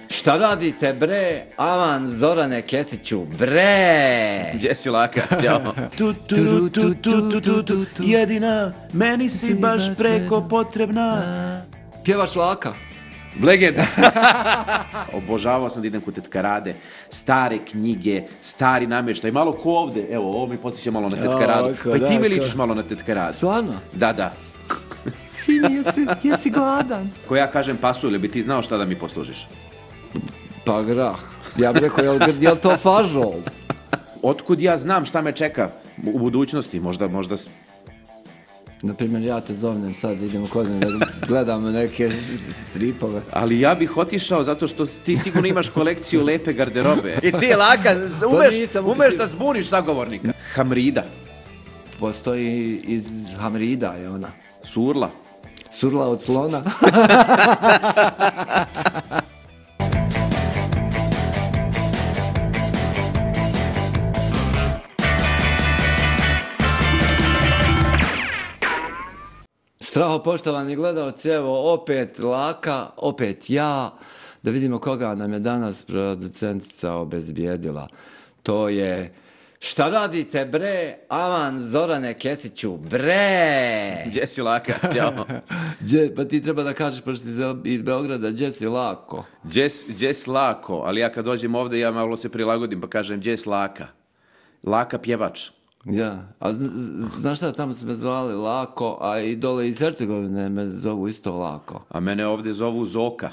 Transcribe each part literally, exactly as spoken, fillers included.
Šta radite bre, aman Zorane Kesiću, bre! Gdje si Laka, ćao. Tu, tu, tu, tu, tu, tu, tu, tu, jedina, meni si baš preko potrebna. Pjevaš Laka? Legenda. Obožavao sam da idem kod tetka Rade, stare knjige, stari namještaj, malo ko ovde, evo, ovo mi podsjeća malo na tetka Radu. Pa i ti mi ličiš malo na tetka Radu. Stvarno? Da, da. Sine, jesi, jesi gladan? Ko ja kažem pasulj, ili bi ti znao šta da mi poslužiš? Pa grah. Ja bih rekao, jel, jel to fažol? Otkud ja znam šta me čeka u budućnosti, možda, možda... Naprimjer, ja te zovnem sad, idemo kod mene da gledamo neke stripove. Ali ja bih otišao zato što ti sigurno imaš kolekciju lepe garderobe. I ti, Laka, umeš, umeš da zbuniš sagovornika. Hamrida. Postoji iz Hamrida je ona. Surla. Surla od slona. Straho, poštovani gledalci, evo opet Laka, opet ja, da vidimo koga nam je danas producentica obezbijedila. To je, šta radite bre, aman Zorane Kesiću, bre! Gdje si Laka, ćao. Gdje, pa ti treba da kažeš, pošto si iz Beograda, gdje si Lako? Gdje si Lako, ali ja kad dođem ovde, ja malo se prilagodim pa kažem gdje si Laka. Laka pjevač. Ja, a znaš šta, tamo su me zvali Lako, a i dole iz Hercegovine me zovu isto Lako. A mene ovde zovu Zoka.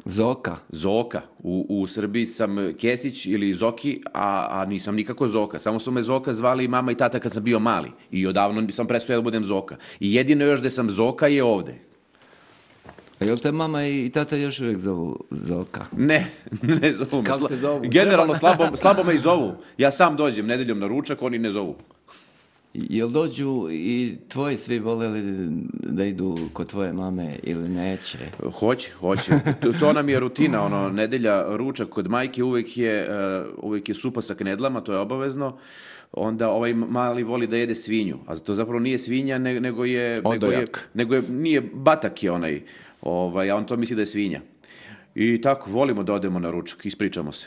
Zoka? Zoka. U, u Srbiji sam Kesić ili Zoki, a, a nisam nikako Zoka. Samo su me Zoka zvali i mama i tata kad sam bio mali. I odavno sam prestao da budem Zoka. I jedino još da sam Zoka je ovde. A jel te mama i tata još uvijek zovu Zoka? Ne, ne zovu me. Kako te zovu? Generalno slabo, slabo me i zovu. Ja sam dođem nedeljom na ručak, oni ne zovu. Jel dođu i tvoji svi voljeli da idu kod tvoje mame ili neće? Hoće, hoće. To, to nam je rutina, ono, nedelja ručak kod majke uvijek je, uh, uvijek je supa sa knedlama, to je obavezno. Onda ovaj mali voli da jede svinju, a to zapravo nije svinja, ne, nego je... Nego je, nego je, nije, batak je onaj, ovaj, a on to misli da je svinja. I tako, volimo da odemo na ručak, ispričamo se.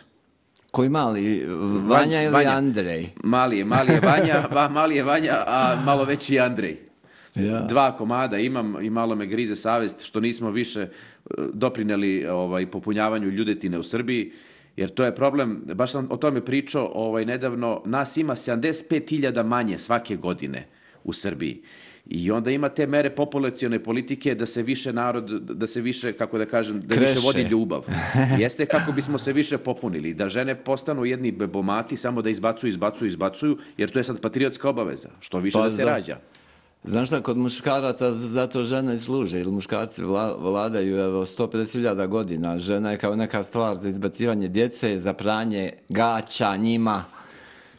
Koji mali? Vanja ili Vanja. Andrej? Mali je, mali je Vanja, va, mali je Vanja, a malo veći je Andrej. Ja. Dva komada imam i malo me grize savjest što nismo više doprineli ovaj, popunjavanju ljudetine u Srbiji, jer to je problem, baš sam o tome pričao ovaj, nedavno, nas ima sedamdeset pet hiljada manje svake godine u Srbiji. I onda ima te mere populacione politike da se više narod, da se više, kako da kažem, da Kreše. više vodi ljubav. Jeste kako bismo se više popunili, da žene postanu jedni bebomati, samo da izbacuju, izbacuju, izbacuju, jer to je sad patriotska obaveza, što više pa da se za... rađa. Znaš šta, kod muškaraca zato žene služe, ili muškarci vla, vladaju evo, sto pedeset hiljada godina, žena je kao neka stvar za izbacivanje djece, za pranje gaća njima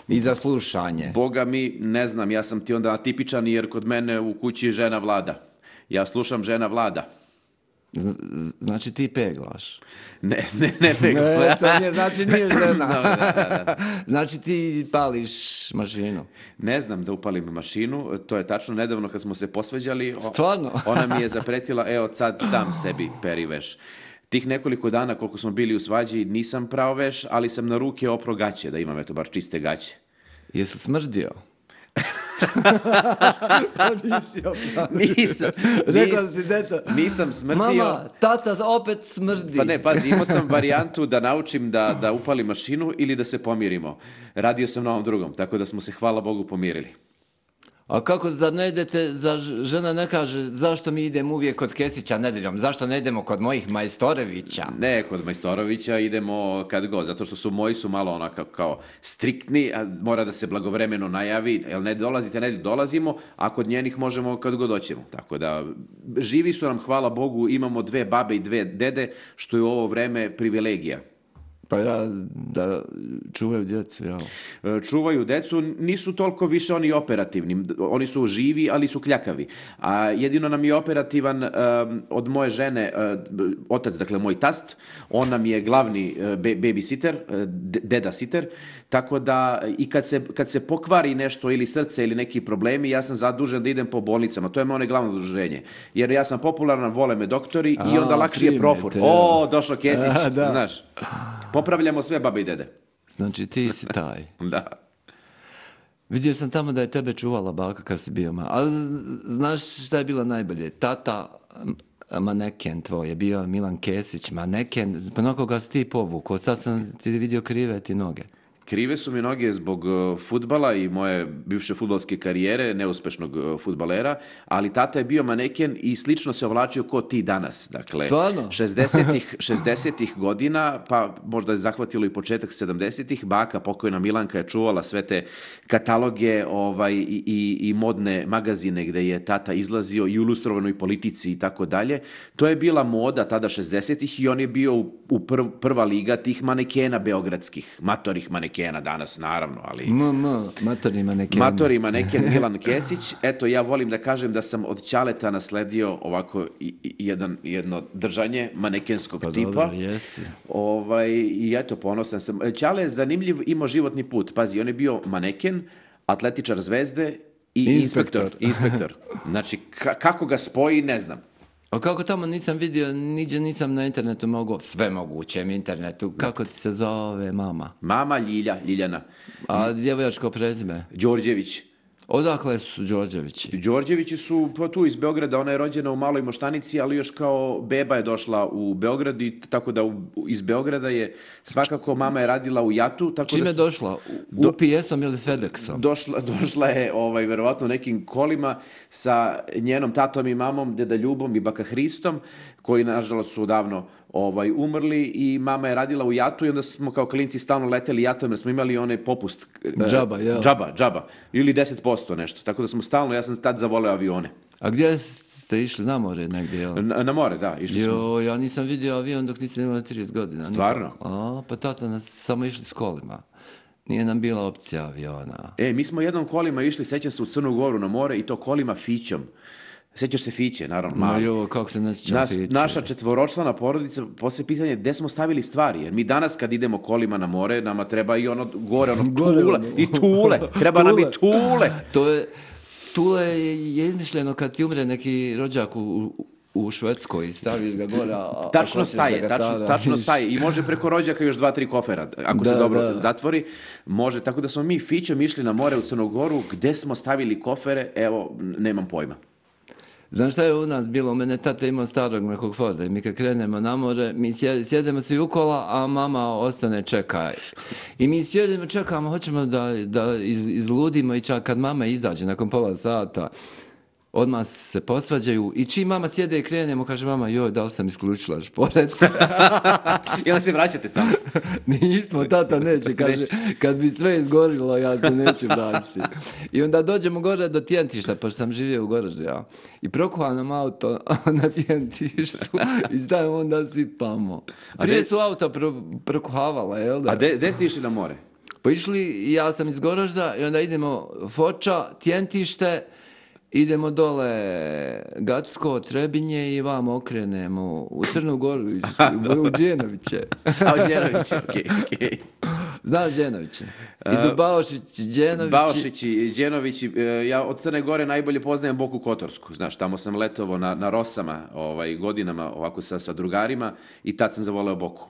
i za slušanje. Boga mi, ne znam, ja sam ti onda atipičan jer kod mene u kući žena vlada. Ja slušam žena vlada. Znači ti peglaš? Ne, ne, ne peglaš. Ne, to nije, znači nije žena. No, da, da, da. Znači ti pališ mašinu? Ne znam da upalim mašinu, to je tačno. Nedavno kad smo se posveđali, Stvarno? Ona mi je zapretila, evo sad sam sebi peri veš. Tih nekoliko dana koliko smo bili u svađi nisam prao veš, ali sam na ruke opro gaće, da imam eto bar čiste gaće. Jesu smrdio? Pa nisi opravio. Nisam. Rekao si, deto. Nisam smrdio. Mama, tata opet smrdi. Pa ne, pazi, imao sam varijantu da naučim da, da upalim mašinu ili da se pomirimo. Radio sam na ovom drugom, tako da smo se, hvala Bogu, pomirili. A kako, zar ne idete, za žena ne kaže zašto mi idemo uvijek kod Kesića nedeljom, zašto ne idemo kod mojih Majstorovića? Ne, kod Majstorovića idemo kad god, zato što su moji su malo onako kao striktni, a mora da se blagovremeno najavi, jel ne dolazite nedelju, dolazimo, a kod njenih možemo kad god hoćemo. Tako da, živi su nam, hvala Bogu, imamo dve babe i dve dede, što je u ovo vreme privilegija. Pa ja, da čuvaju djecu, jel? Čuvaju decu, nisu toliko više oni operativni. Oni su živi, ali su kljakavi. A jedino nam je operativan um, od moje žene, uh, otac, dakle moj tast, on nam je glavni uh, babysitter, uh, deda sitter, tako da i kad se, kad se pokvari nešto ili srce ili neki problemi, ja sam zadužen da idem po bolnicama. To je moje glavno zaduženje. Jer ja sam popularan, vole me doktori A, i onda lakše je profur. O, došao Kesić, A, znaš. Popravljamo sve babe i dede. Znači ti si taj. Da. Vidio sam tamo da je tebe čuvala baka kad si bio ma. Ali znaš šta je bilo najbolje? Tata maneken tvoj je bio Milan Kesić, maneken, pa na koga si ti povukao? Sad sam ti vidio krive ti noge. Krive su mi noge zbog fudbala i moje bivše fudbalske karijere, neuspešnog fudbalera, ali tata je bio maneken i slično se ovlačio ko ti danas. Dakle, stvarno? šezdesetih godina, pa možda je zahvatilo i početak sedamdesetih, baka, pokojna Milanka je čuvala sve te kataloge ovaj, i, i, i modne magazine gde je tata izlazio i u ilustrovanoj politici i tako dalje. To je bila moda tada šezdesetih i on je bio u, u prv, prva liga tih manekena beogradskih, matorih manekena. Kena danas, naravno, ali... M, m, matorni maneken. Matorni maneken Milan Kesić. Eto, ja volim da kažem da sam od Ćaleta nasledio ovako i, i, jedan, jedno držanje manekenskog pa tipa. Dobro, jesi. Ovaj, I eto, ponosan sam. Ćale je zanimljiv, imao životni put. Pazi, on je bio maneken, atletičar Zvezde i inspektor. Inspektor. inspektor. Znači, ka, kako ga spoji, ne znam. A kako tamo nisam vidio, niđe nisam na internetu mogao, sve mogućem internetu, kako ti se zove mama? Mama Ljilja, Ljiljana. A djevojačko prezime? Đorđević. Odakle su Đorđevići? Đorđevići su pa, tu iz Beograda, ona je rođena u Maloj Moštanici, ali još kao beba je došla u Beograd i tako da u, iz Beograda je svakako mama je radila u Jatu. Tako Čime da je došla? U P S-om ili FedExom? Došla, došla je ovaj, verovatno nekim kolima sa njenom tatom i mamom, deda Ljubom i baka Hristom, koji nažalost su davno ovaj, umrli i mama je radila u Jatu i onda smo kao klinci stalno leteli Jatom jer smo imali onaj popust. Džaba, jel? Džaba, džaba. Ili deset posto nešto. Tako da smo stalno, ja sam tad zavoleo avione. A gdje ste išli na more negdje, jel? Na, na more, da. Išli jo, smo. Ja nisam vidio avion dok nisam imala trideset godina. Stvarno? A, pa tata nas samo išli s kolima. Nije nam bila opcija aviona. E, mi smo jednom kolima išli, sećam se u Crnu Goru na more i to kolima Fićom. Sećaš se Fiće, naravno. Ma jo, kako se ne sjećam Nas, Fiće. Naša četvoročlana porodica, poslije pitanje gde smo stavili stvari, jer mi danas kad idemo kolima na more, nama treba i ono gore, ono Gore, tule, ono. i tule, treba nam i tule. To je, tule je izmišljeno kad ti umre neki rođak u, u Švedskoj i staviš ga gore. A, tačno a staje, tačno, tačno staje i može preko rođaka još dva, tri kofera, ako da, se dobro da. zatvori, može, tako da smo mi Fićom išli na more u Crnu Goru, gde smo stavili kofere, evo, nemam pojma. Znaš šta je u nas bilo? U mene tata imao starog nekog Forda i mi kad krenemo na more, mi sjedemo svi ukola, a mama ostane čeka. I mi sjedemo, čekamo, hoćemo da, da iz, izludimo i čak kad mama izađe nakon pola sata, odmah se posvađaju i čim mama sjede i krenemo, kaže mama, joj, da li sam isključila šporet? I onda se vraćate stavno? Nismo, tata neće, kaže, kad bi sve izgorilo, ja se neću vratiti. I onda dođemo gore do Tjentišta, pošto sam živio u Goraždu, ja. I prokuvam nam auto na Tjentištu i stavimo onda sipamo. Prije su auto prokuhavala, jel da? A gde ste išli na more? Pa išli, ja sam iz Goražda i onda idemo Foča, Tjentište, idemo dole Gacko, Trebinje i vam okrenemo u Crnu Goru, u Đenoviće. A u Đenoviće, okej, okay, okej. Okay. Znaš Đenoviće? Idu Baošić, Đenovići. Baošić i Đenovići. Ja od Crne Gore najbolje poznajem Boku Kotorsku. Znaš, tamo sam letovao na, na Rosama ovaj, godinama ovako sa, sa drugarima i tad sam zavoleo Boku.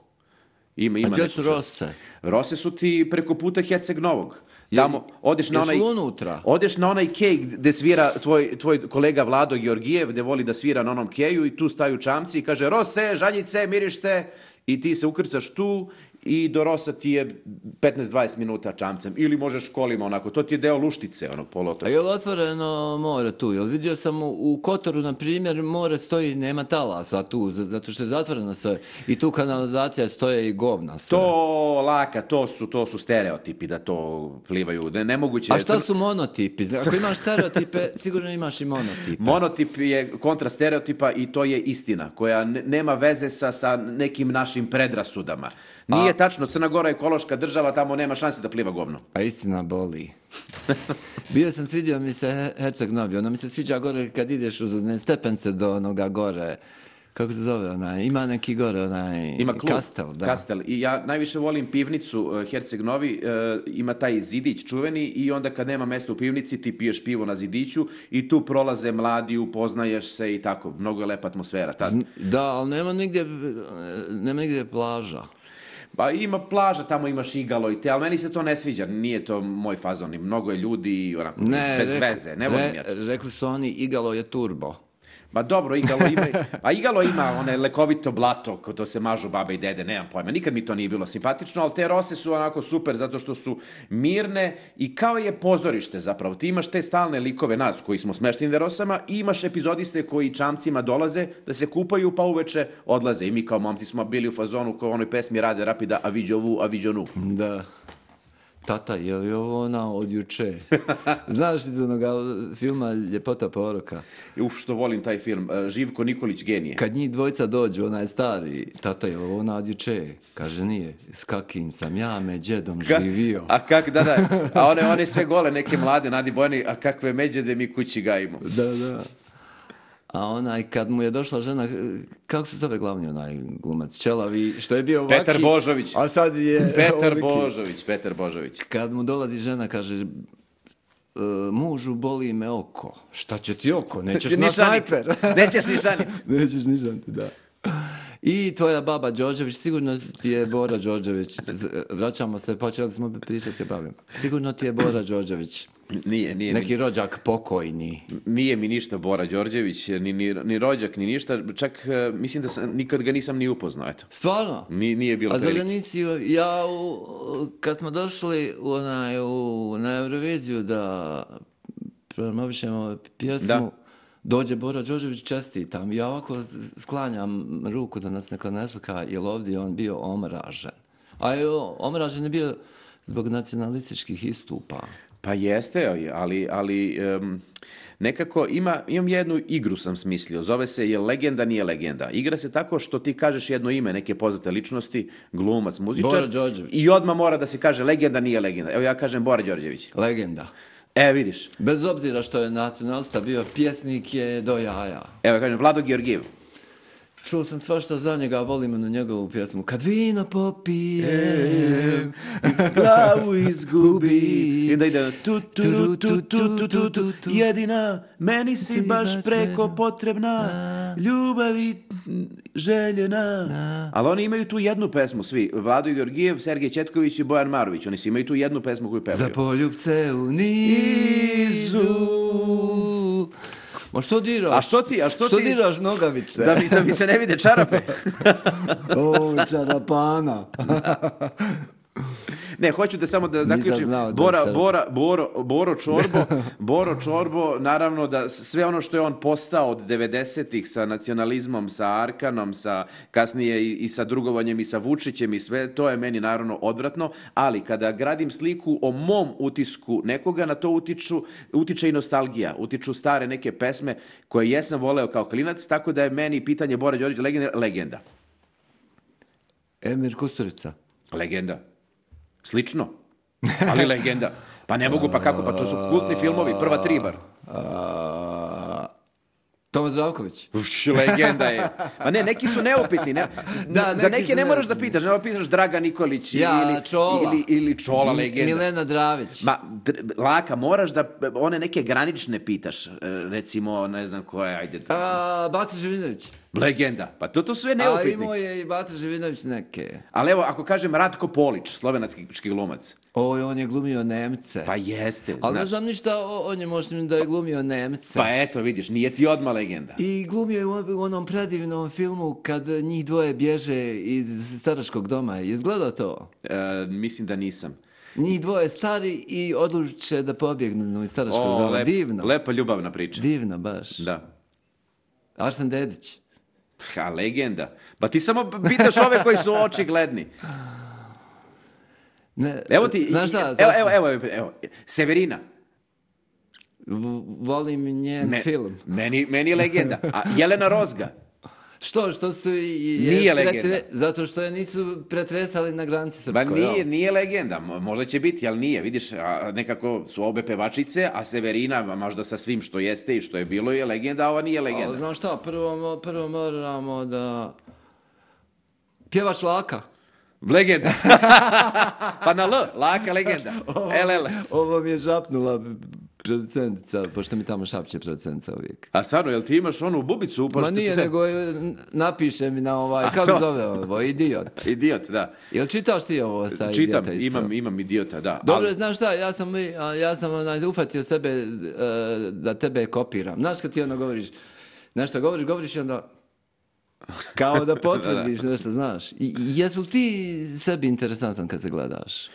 Ima, ima a gdje su Rose? Rose su ti preko puta Herceg Novog. Tamo, odeš na onaj, unutra? Odeš na onaj kej gde svira tvoj, tvoj kolega Vlado Georgijev, gde voli da svira na onom keju i tu staju čamci i kaže Rose, žaljice, mirište i ti se ukrcaš tu i do Rosa ti je petnaest dvadeset minuta čamcem. Ili možeš kolima onako. To ti je deo Luštice, onog poluotoka. A je li otvoreno more tu? Jel vidio sam u, u Kotoru, na primjer, more stoji, nema talasa tu, zato što je zatvoreno sve. I tu kanalizacija stoje i govna sve. To laka, to su, to su stereotipi da to plivaju. Ne, nemoguće. A šta su monotipi? Ako imaš stereotipe, sigurno imaš i monotipe. Monotip je kontra stereotipa i to je istina, koja nema veze sa, sa nekim našim predrasudama. Nije, nije tačno, Crna Gora je ekološka država, tamo nema šanse da pliva govno. A istina boli. Bio sam, svidio mi se Herceg Novi, ono mi se sviđa gore kad ideš uz ne stepence do onoga gore, kako se zove onaj, ima neki gore onaj, ima klub, kastel. Da. Kastel. I ja najviše volim pivnicu uh, Herceg Novi, uh, ima taj zidić čuveni i onda kad nema mesta u pivnici ti piješ pivo na zidiću i tu prolaze mladi, upoznaješ se i tako, mnogo je lepa atmosfera. Tad. Da, ali nema nigdje, nema nigdje plaža. Pa ima plaža, tamo imaš igalo i te, ali meni se to ne sviđa, nije to moj fazon, i mnogo je ljudi i onako, ne, bez rekli, veze, ne volim ja to. Rekli su oni, igalo je turbo. Ma dobro, igalo ima, a igalo ima one lekovito blato, ko to se mažu babe i dede, nemam pojma, nikad mi to nije bilo simpatično, ali te rose su onako super zato što su mirne i kao je pozorište zapravo. Ti imaš te stalne likove nas koji smo smešteni na rosama i imaš epizodiste koji čamcima dolaze da se kupaju pa uveče odlaze i mi kao momci smo bili u fazonu kao onoj pesmi Rade Rapida a viđo vu, a viđo nu. Da. Tata, je li ovo ona od juče? Znaš iz onoga filma Ljepota poroka? Uf, što volim taj film. Živko Nikolić, genije. Kad njih dvojca dođu, onaj stari, tata, je li ovo ona od juče? Kaže, nije. S kakim sam ja me džedom Ka, živio. A kak, da, da. A one, one sve gole, neke mlade, Nadi Bojani, a kakve međede mi kući gajimo. Da, da. A onaj, kad mu je došla žena, kako se zove glavni onaj glumac, Čelavi, što je bio ovaki... Petar Božović. A sad je... Petar ovaki. Božović, Petar Božović. Kad mu dolazi žena, kaže, e, mužu, boli me oko. Šta će ti oko? Nećeš na snajper. Nećeš ni šanit. Nećeš ni šanit, da. I tvoja baba Đorđević, sigurno ti je Bora Đorđević, vraćamo se, počeli smo pričati o babima. Sigurno ti je Bora Đorđević. Nije, nije. Neki mi, rođak pokojni. Nije mi ništa Bora Đorđević, ni, ni, ni rođak, ni ništa. Čak mislim da sam, nikad ga nisam ni upoznao, eto. Stvarno? Nije, nije bilo prilike. A prilike. zar nisi, ja, u, kad smo došli u, onaj, u, na Euroviziju da promovišemo pjesmu, da. Dođe Bora Đorđević, čestitam. Ja ovako sklanjam ruku da nas neko ne slika, jer ovdje on bio omražen. A je omražen je bio zbog nacionalističkih istupa. Pa jeste, ali, ali um, nekako ima, imam jednu igru sam smislio, zove se je legenda, nije legenda. Igra se tako što ti kažeš jedno ime neke poznate ličnosti, glumac, muzičar. Bora Đorđević. I odmah mora da se kaže legenda, nije legenda. Evo ja kažem Bora Đorđević. Legenda. E, vidiš. Bez obzira što je nacionalista bio, pjesnik je do jaja. Evo ja kažem Vlado Georgijev. Čuo sam svašta za njega, volim na njegovu pjesmu. Kad vino popijem, glavu izgubi. I da ide tu, tu, tu, tu, tu, tu, tu, tu, jedina, meni si baš preko potrebna, ljubavi željena. Ali oni imaju tu jednu pesmu, svi. Vlado Georgijev, Sergej Četković i Bojan Marović. Oni svi imaju tu jednu pesmu koju pevaju. Za poljubce u nizu. Ma što diraš? A što ti? A što, što ti? diraš nogavice? Da mi, da mi se ne vide čarape. O, čarapana. Ne, hoću da samo da zaključim. Bora, da Bora, Boro, Boro Čorbo, Boro Čorbo, naravno da sve ono što je on postao od devedesetih sa nacionalizmom, sa Arkanom, sa kasnije i, i sa drugovanjem i sa Vučićem i sve, to je meni naravno odvratno, ali kada gradim sliku o mom utisku nekoga, na to utiču, utiče i nostalgija, utiču stare neke pesme koje jesam voleo kao klinac, tako da je meni pitanje Bora Đorđević legenda. legenda. Emir Kusturica. Legenda. Slično, ali legenda. Pa ne mogu, pa kako, pa to su kultni filmovi, prva tri bar. Tomas Zdravković. Uš, legenda je. Pa ne, neki su neupitni. Ne, da, za neke ne moraš da pitaš, ne pitaš Draga Nikolić ja, ili, Čola. ili, ili Čola, legenda. Milena Dravić. Ma, laka, moraš da one neke granične pitaš. Recimo, ne znam ko je, ajde. A, Bata Živinović. Legenda. Pa to to sve neupitni. A imao je i Bata Živinović neke. Ali evo, ako kažem Ratko Polić, slovenački glumac. Oj, on je glumio Nemce. Pa jeste. Ali ne znam ništa o, o njemu, osim da je glumio Nemce. Pa eto, vidiš, nije ti odmah legenda. I glumio je u onom predivnom filmu kad njih dvoje bježe iz staračkog doma. Izgleda to? E, mislim da nisam. Njih dvoje stari i odluče da pobjegnu iz staračkog o, doma. Lep, Divno. Lepa ljubavna priča. Divno, baš. Da. Arsen Dedić. Ha, legenda. Pa ti samo pitaš ove koji su očigledni. Ne, evo ti, znaš šta, evo, evo, evo, evo, evo, Severina. V, volim njen Me, film. Meni, meni je legenda. A Jelena Rozga. Što, što su... Je, Nije pretre, legenda. Zato što je nisu pretresali na granici srpskoj. Ba nije, nije legenda, možda će biti, ali nije. Vidiš, a, nekako su obe pevačice, a Severina, možda sa svim što jeste i što je bilo, je legenda, a ova nije legenda. Ali, znaš šta, prvo, prvo moramo da... Pjevaš Laka. Legenda. Pa na L, Laka legenda. L L. Ovo mi je žapnula producentica, pošto mi tamo šapće producentica uvijek. A stvarno, jel ti imaš onu bubicu upošto? Ma nije, se... nego napiše mi na ovaj, kako to? Zove ovo, idiot. Idiot, da. Jel čitaš ti ovo sa Čitam, idiota isto? imam, imam idiota, da. Dobro, ali... znaš šta, ja sam, ja sam onaj, ufatio sebe uh, da tebe kopiram. Znaš kad ti ono govoriš, nešto govoriš, govoriš i onda... Kao da potvrdiš nešto, znaš. I, jesu li ti sebi interesantan kad se gledaš?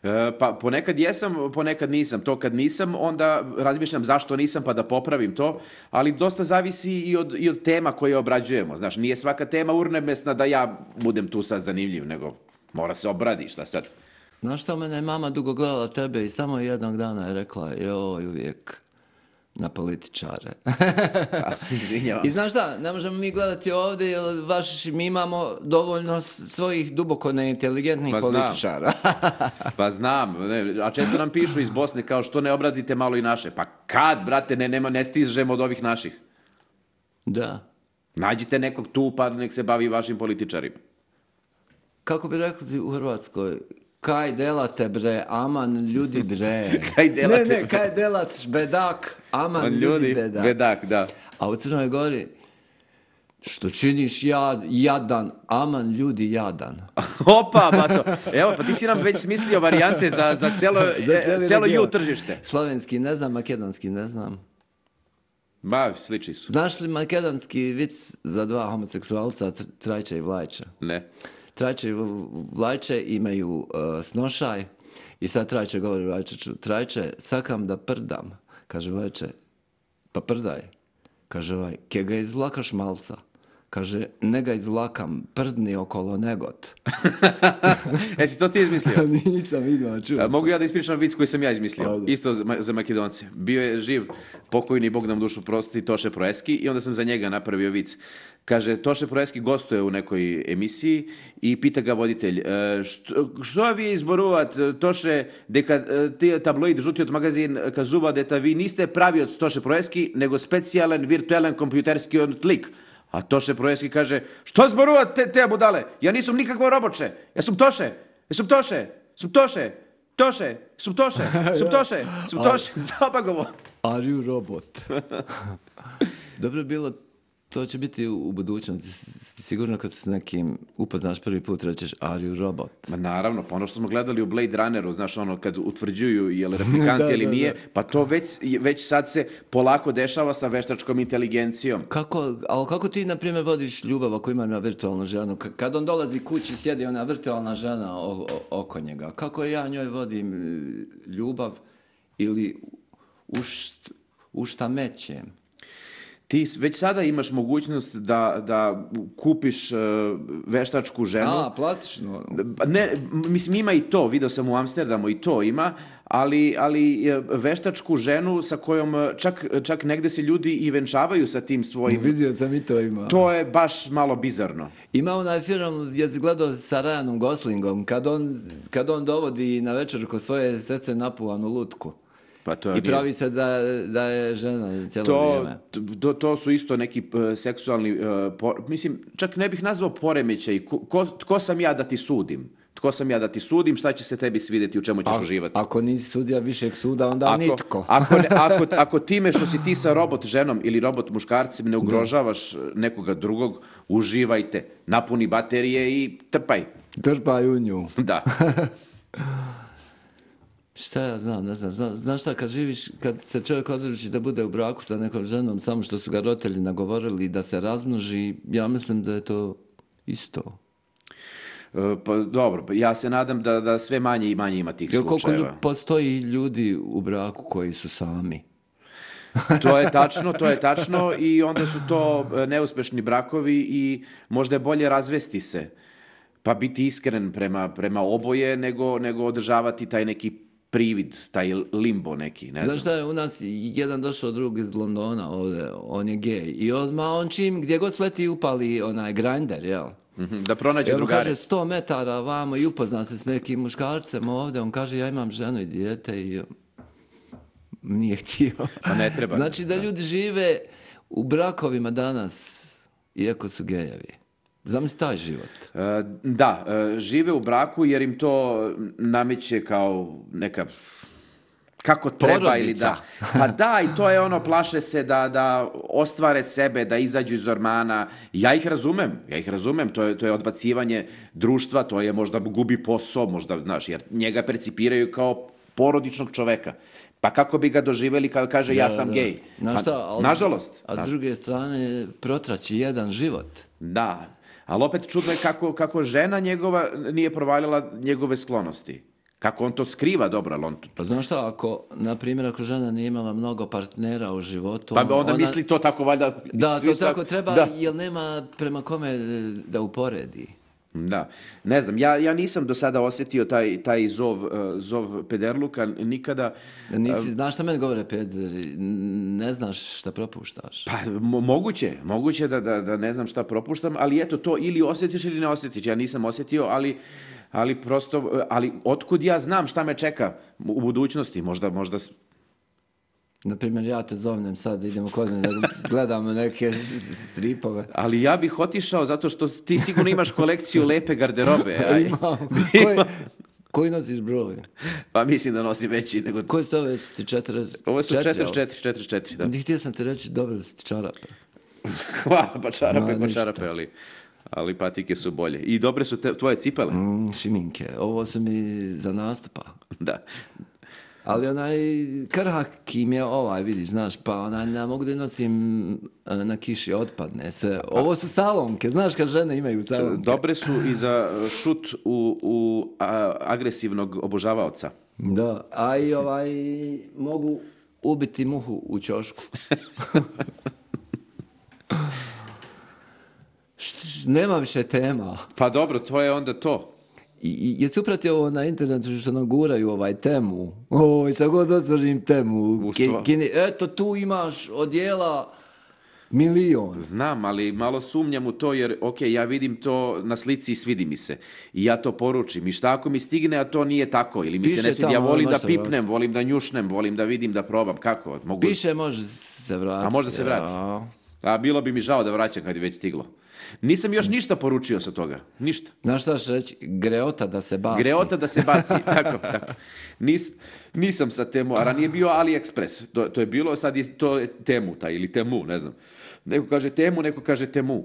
E, pa ponekad jesam, ponekad nisam. To kad nisam, onda razmišljam zašto nisam pa da popravim to, ali dosta zavisi i od, i od tema koje obrađujemo. Znaš, nije svaka tema urnebesna da ja budem tu sad zanimljiv, nego mora se obradi, šta sad. Znaš što, mene je mama dugo gledala tebe i samo jednog dana je rekla, joj, uvijek na političare. Izvinjavam I znaš šta, ne možemo mi gledati ovdje, jer vaš, mi imamo dovoljno svojih duboko neinteligentnih pa političara. Pa znam, ne, a često nam pišu iz Bosne kao što ne obradite malo i naše. Pa kad, brate, ne, nema, ne stižemo od ovih naših. Da. Nađite nekog tu pa nek se bavi vašim političarima. Kako bi rekli u Hrvatskoj, kaj delate bre, aman ljudi bre. Kaj delate, ne, ne, kaj delat bedak, aman ljudi, ljudi bedak. bedak, da. A u Crnoj Gori, što činiš jad, jadan, aman ljudi jadan. Opa, bato. Evo, pa ti si nam već smislio varijante za, za celo, za celo ju tržište. Slovenski ne znam, makedonski ne znam. Ma, sliči su. Znaš li makedonski vic za dva homoseksualca, Trajča i Vlajča? Ne. Trajče i Vlajče imaju uh, snošaj i sad Trajče govori Vlajčeću, Trajče, sakam da prdam. Kaže Vlajče, pa prdaj. Kaže ovaj, ke ga izvlakaš malca. Kaže, ne ga izvlakam, prdni okolo negot. Jesi to ti izmislio? Nisam vidio, čuo. Mogu ja da ispričam vic koji sam ja izmislio? Ajde. Isto za, za Makedonce. Bio je živ pokojni, Bog nam dušu prosti, Toše Proeski i onda sam za njega napravio vic. Kaže, Toše Proeski gostuje u nekoj emisiji i pita ga voditelj, što, što vi izboruvat, Toše, deka ti tabloid žuti od magazin kazuva da vi niste pravi od Toše Proeski, nego specijalan virtualan kompjuterski lik. A Toše Proeski kaže, što zboruvat te, te budale? Ja nisam nikakvo roboče. Ja sam Toše. Ja sam Toše. Sam Toše. Toše. Sam Toše. Sam Toše. Sam Toše. Zabagovo. Are you robot? Dobro je bilo, to će biti u budućnosti. Sigurno kad se s nekim upoznaš prvi put rećeš are you robot? Ma naravno, pa ono što smo gledali u Blade Runneru, znaš ono, kad utvrđuju je li replikant da, ili da, nije, da. Pa to već, već sad se polako dešava sa veštačkom inteligencijom. Kako, ali kako ti, na primjer, vodiš ljubav ako ima na virtualnu ženu? Kad on dolazi kući, sjedi ona virtualna žena o, o, oko njega. Kako ja njoj vodim ljubav ili u, št, u šta mećem? Ti već sada imaš mogućnost da, da kupiš uh, veštačku ženu. A, plastično. Ne, mislim, ima i to, video sam u Amsterdamu i to ima, ali, ali veštačku ženu sa kojom čak, čak negde se ljudi i venčavaju sa tim svojim. Vidio sam i to ima. To je baš malo bizarno. Ima onaj film, ja sam gledao sa Ryanom Goslingom, kad on, kad on dovodi na večer kod svoje sestre napuvanu lutku. Pa to I pravi nije... se da, da je žena cijelo to, vrijeme. To, to su isto neki uh, seksualni, uh, por... mislim, čak ne bih nazvao poremećaj. Ko, ko, ko sam ja da ti sudim? Tko sam ja da ti sudim? Šta će se tebi svidjeti? U čemu ćeš A, uživati? Ako nisi sudija višeg suda, onda ako, nitko. Ako, ne, ako, ako time što si ti sa robot ženom ili robot muškarcem ne ugrožavaš nekoga drugog, uživajte. Napuni baterije i trpaj. Trpaj u nju. Da. Šta ja znam, ne znam, Zna, znaš šta, kad živiš, kad se čovjek odluči da bude u braku sa nekom ženom, samo što su ga roditelji nagovorili da se razmnoži, ja mislim da je to isto. E, pa dobro, ja se nadam da, da sve manje i manje ima tih slučajeva. Koliko postoji ljudi u braku koji su sami? To je tačno, to je tačno i onda su to neuspešni brakovi i možda je bolje razvesti se, pa biti iskren prema, prema oboje nego, nego održavati taj neki privid, taj limbo neki, ne znam. Znaš šta je, u nas jedan došao drug iz Londona ovdje, on je gej i odmah on čim gdje god sleti upali onaj grinder, jel? Mm-hmm, da pronađe Evo drugare. kaže sto metara vamo i upozna se s nekim muškarcem ovdje, on kaže ja imam ženu i dijete i nije htio. Pa ne treba. Znači da ljudi žive u brakovima danas, iako su gejevi. Zamisli taj život. E, da, e, žive u braku jer im to nameće kao neka kako treba Porodica. ili da. Pa da, i to je ono, plaše se da, da ostvare sebe, da izađu iz ormana. Ja ih razumem, ja ih razumem, to je, to je odbacivanje društva, to je možda gubi posao, možda, znaš, jer njega percipiraju kao porodičnog čoveka. Pa kako bi ga doživjeli kada kaže ja sam da, gej? Znaš Pa, šta, ali, nažalost. A s Da. druge strane protraći jedan život. Da, ali opet čudno je kako, kako žena njegova nije provaljala njegove sklonosti. Kako on to skriva dobro, ali on... Pa znaš šta, ako, na primjer, ako žena nije imala mnogo partnera u životu... Pa onda ona, misli to tako valjda... Da, svi to svak- tako treba, Da. jer nema prema kome da uporedi. Da, ne znam, ja, ja nisam do sada osjetio taj, taj zov, uh, zov pederluka nikada. Nisi, znaš šta meni govore, pederi, ne znaš šta propuštaš. Pa mo- moguće, moguće da, da, da ne znam šta propuštam, ali eto to ili osjetiš ili ne osjetiš. Ja nisam osjetio, ali, ali prosto, ali otkud ja znam šta me čeka u budućnosti, možda, možda... s- Naprimjer, ja te zovnem sad, idemo kod mene da gledamo neke stripove. Ali ja bih otišao zato što ti sigurno imaš kolekciju lepe garderobe. Aj. Imam. Koji, koji nosiš broj? Pa mislim da nosim veći nego... Koji su to već ti četrdeset? Ovo su četiri, četrdeset četiri, četrdeset četiri, da. jel? Htio sam ti reći dobro da si ti čarape. Hvala, pa čarape, Ma, pa ništa. čarape, ali, ali patike su bolje. I dobre su te, tvoje cipele. Mm, šiminke, ovo su mi za nastupa. Da. Ali onaj krhak im je ovaj, vidiš, znaš, pa onaj ne mogu da nosim e, na kiši, otpadne se. Ovo su salonke, znaš kad žene imaju salonke. Dobre su i za šut u, u a, agresivnog obožavaoca. Da, a i ovaj, mogu ubiti muhu u ćošku. Š- Nema više tema. Pa dobro, to je onda to. I, i jesi upratio ovo na internetu što nam guraju ovaj temu? Oj, sad god otvorim temu. U Ki- sva- kini- eto, tu imaš odjela milion. Znam, ali malo sumnjam u to jer, ok, ja vidim to na slici i svidi mi se. I ja to poručim. I šta ako mi stigne, a to nije tako? Ili mi Piše se ne svidi, ja tamo, volim da možda pipnem, volim da njušnem, volim da vidim, da probam. Kako? Mogu... Piše, može se vratiti. A možda se vrati. Ja. A bilo bi mi žao da vraćam kad je već stiglo. Nisam još ništa poručio sa toga. Ništa. Znaš šta ću reći? Greota da se baci. Greota da se baci, tako, tako. Nis, nisam sa temu, a ranije bio AliExpress. To, to je bilo, sad je to je Temuta ili Temu, ne znam. Neko kaže Temu, neko kaže Temu.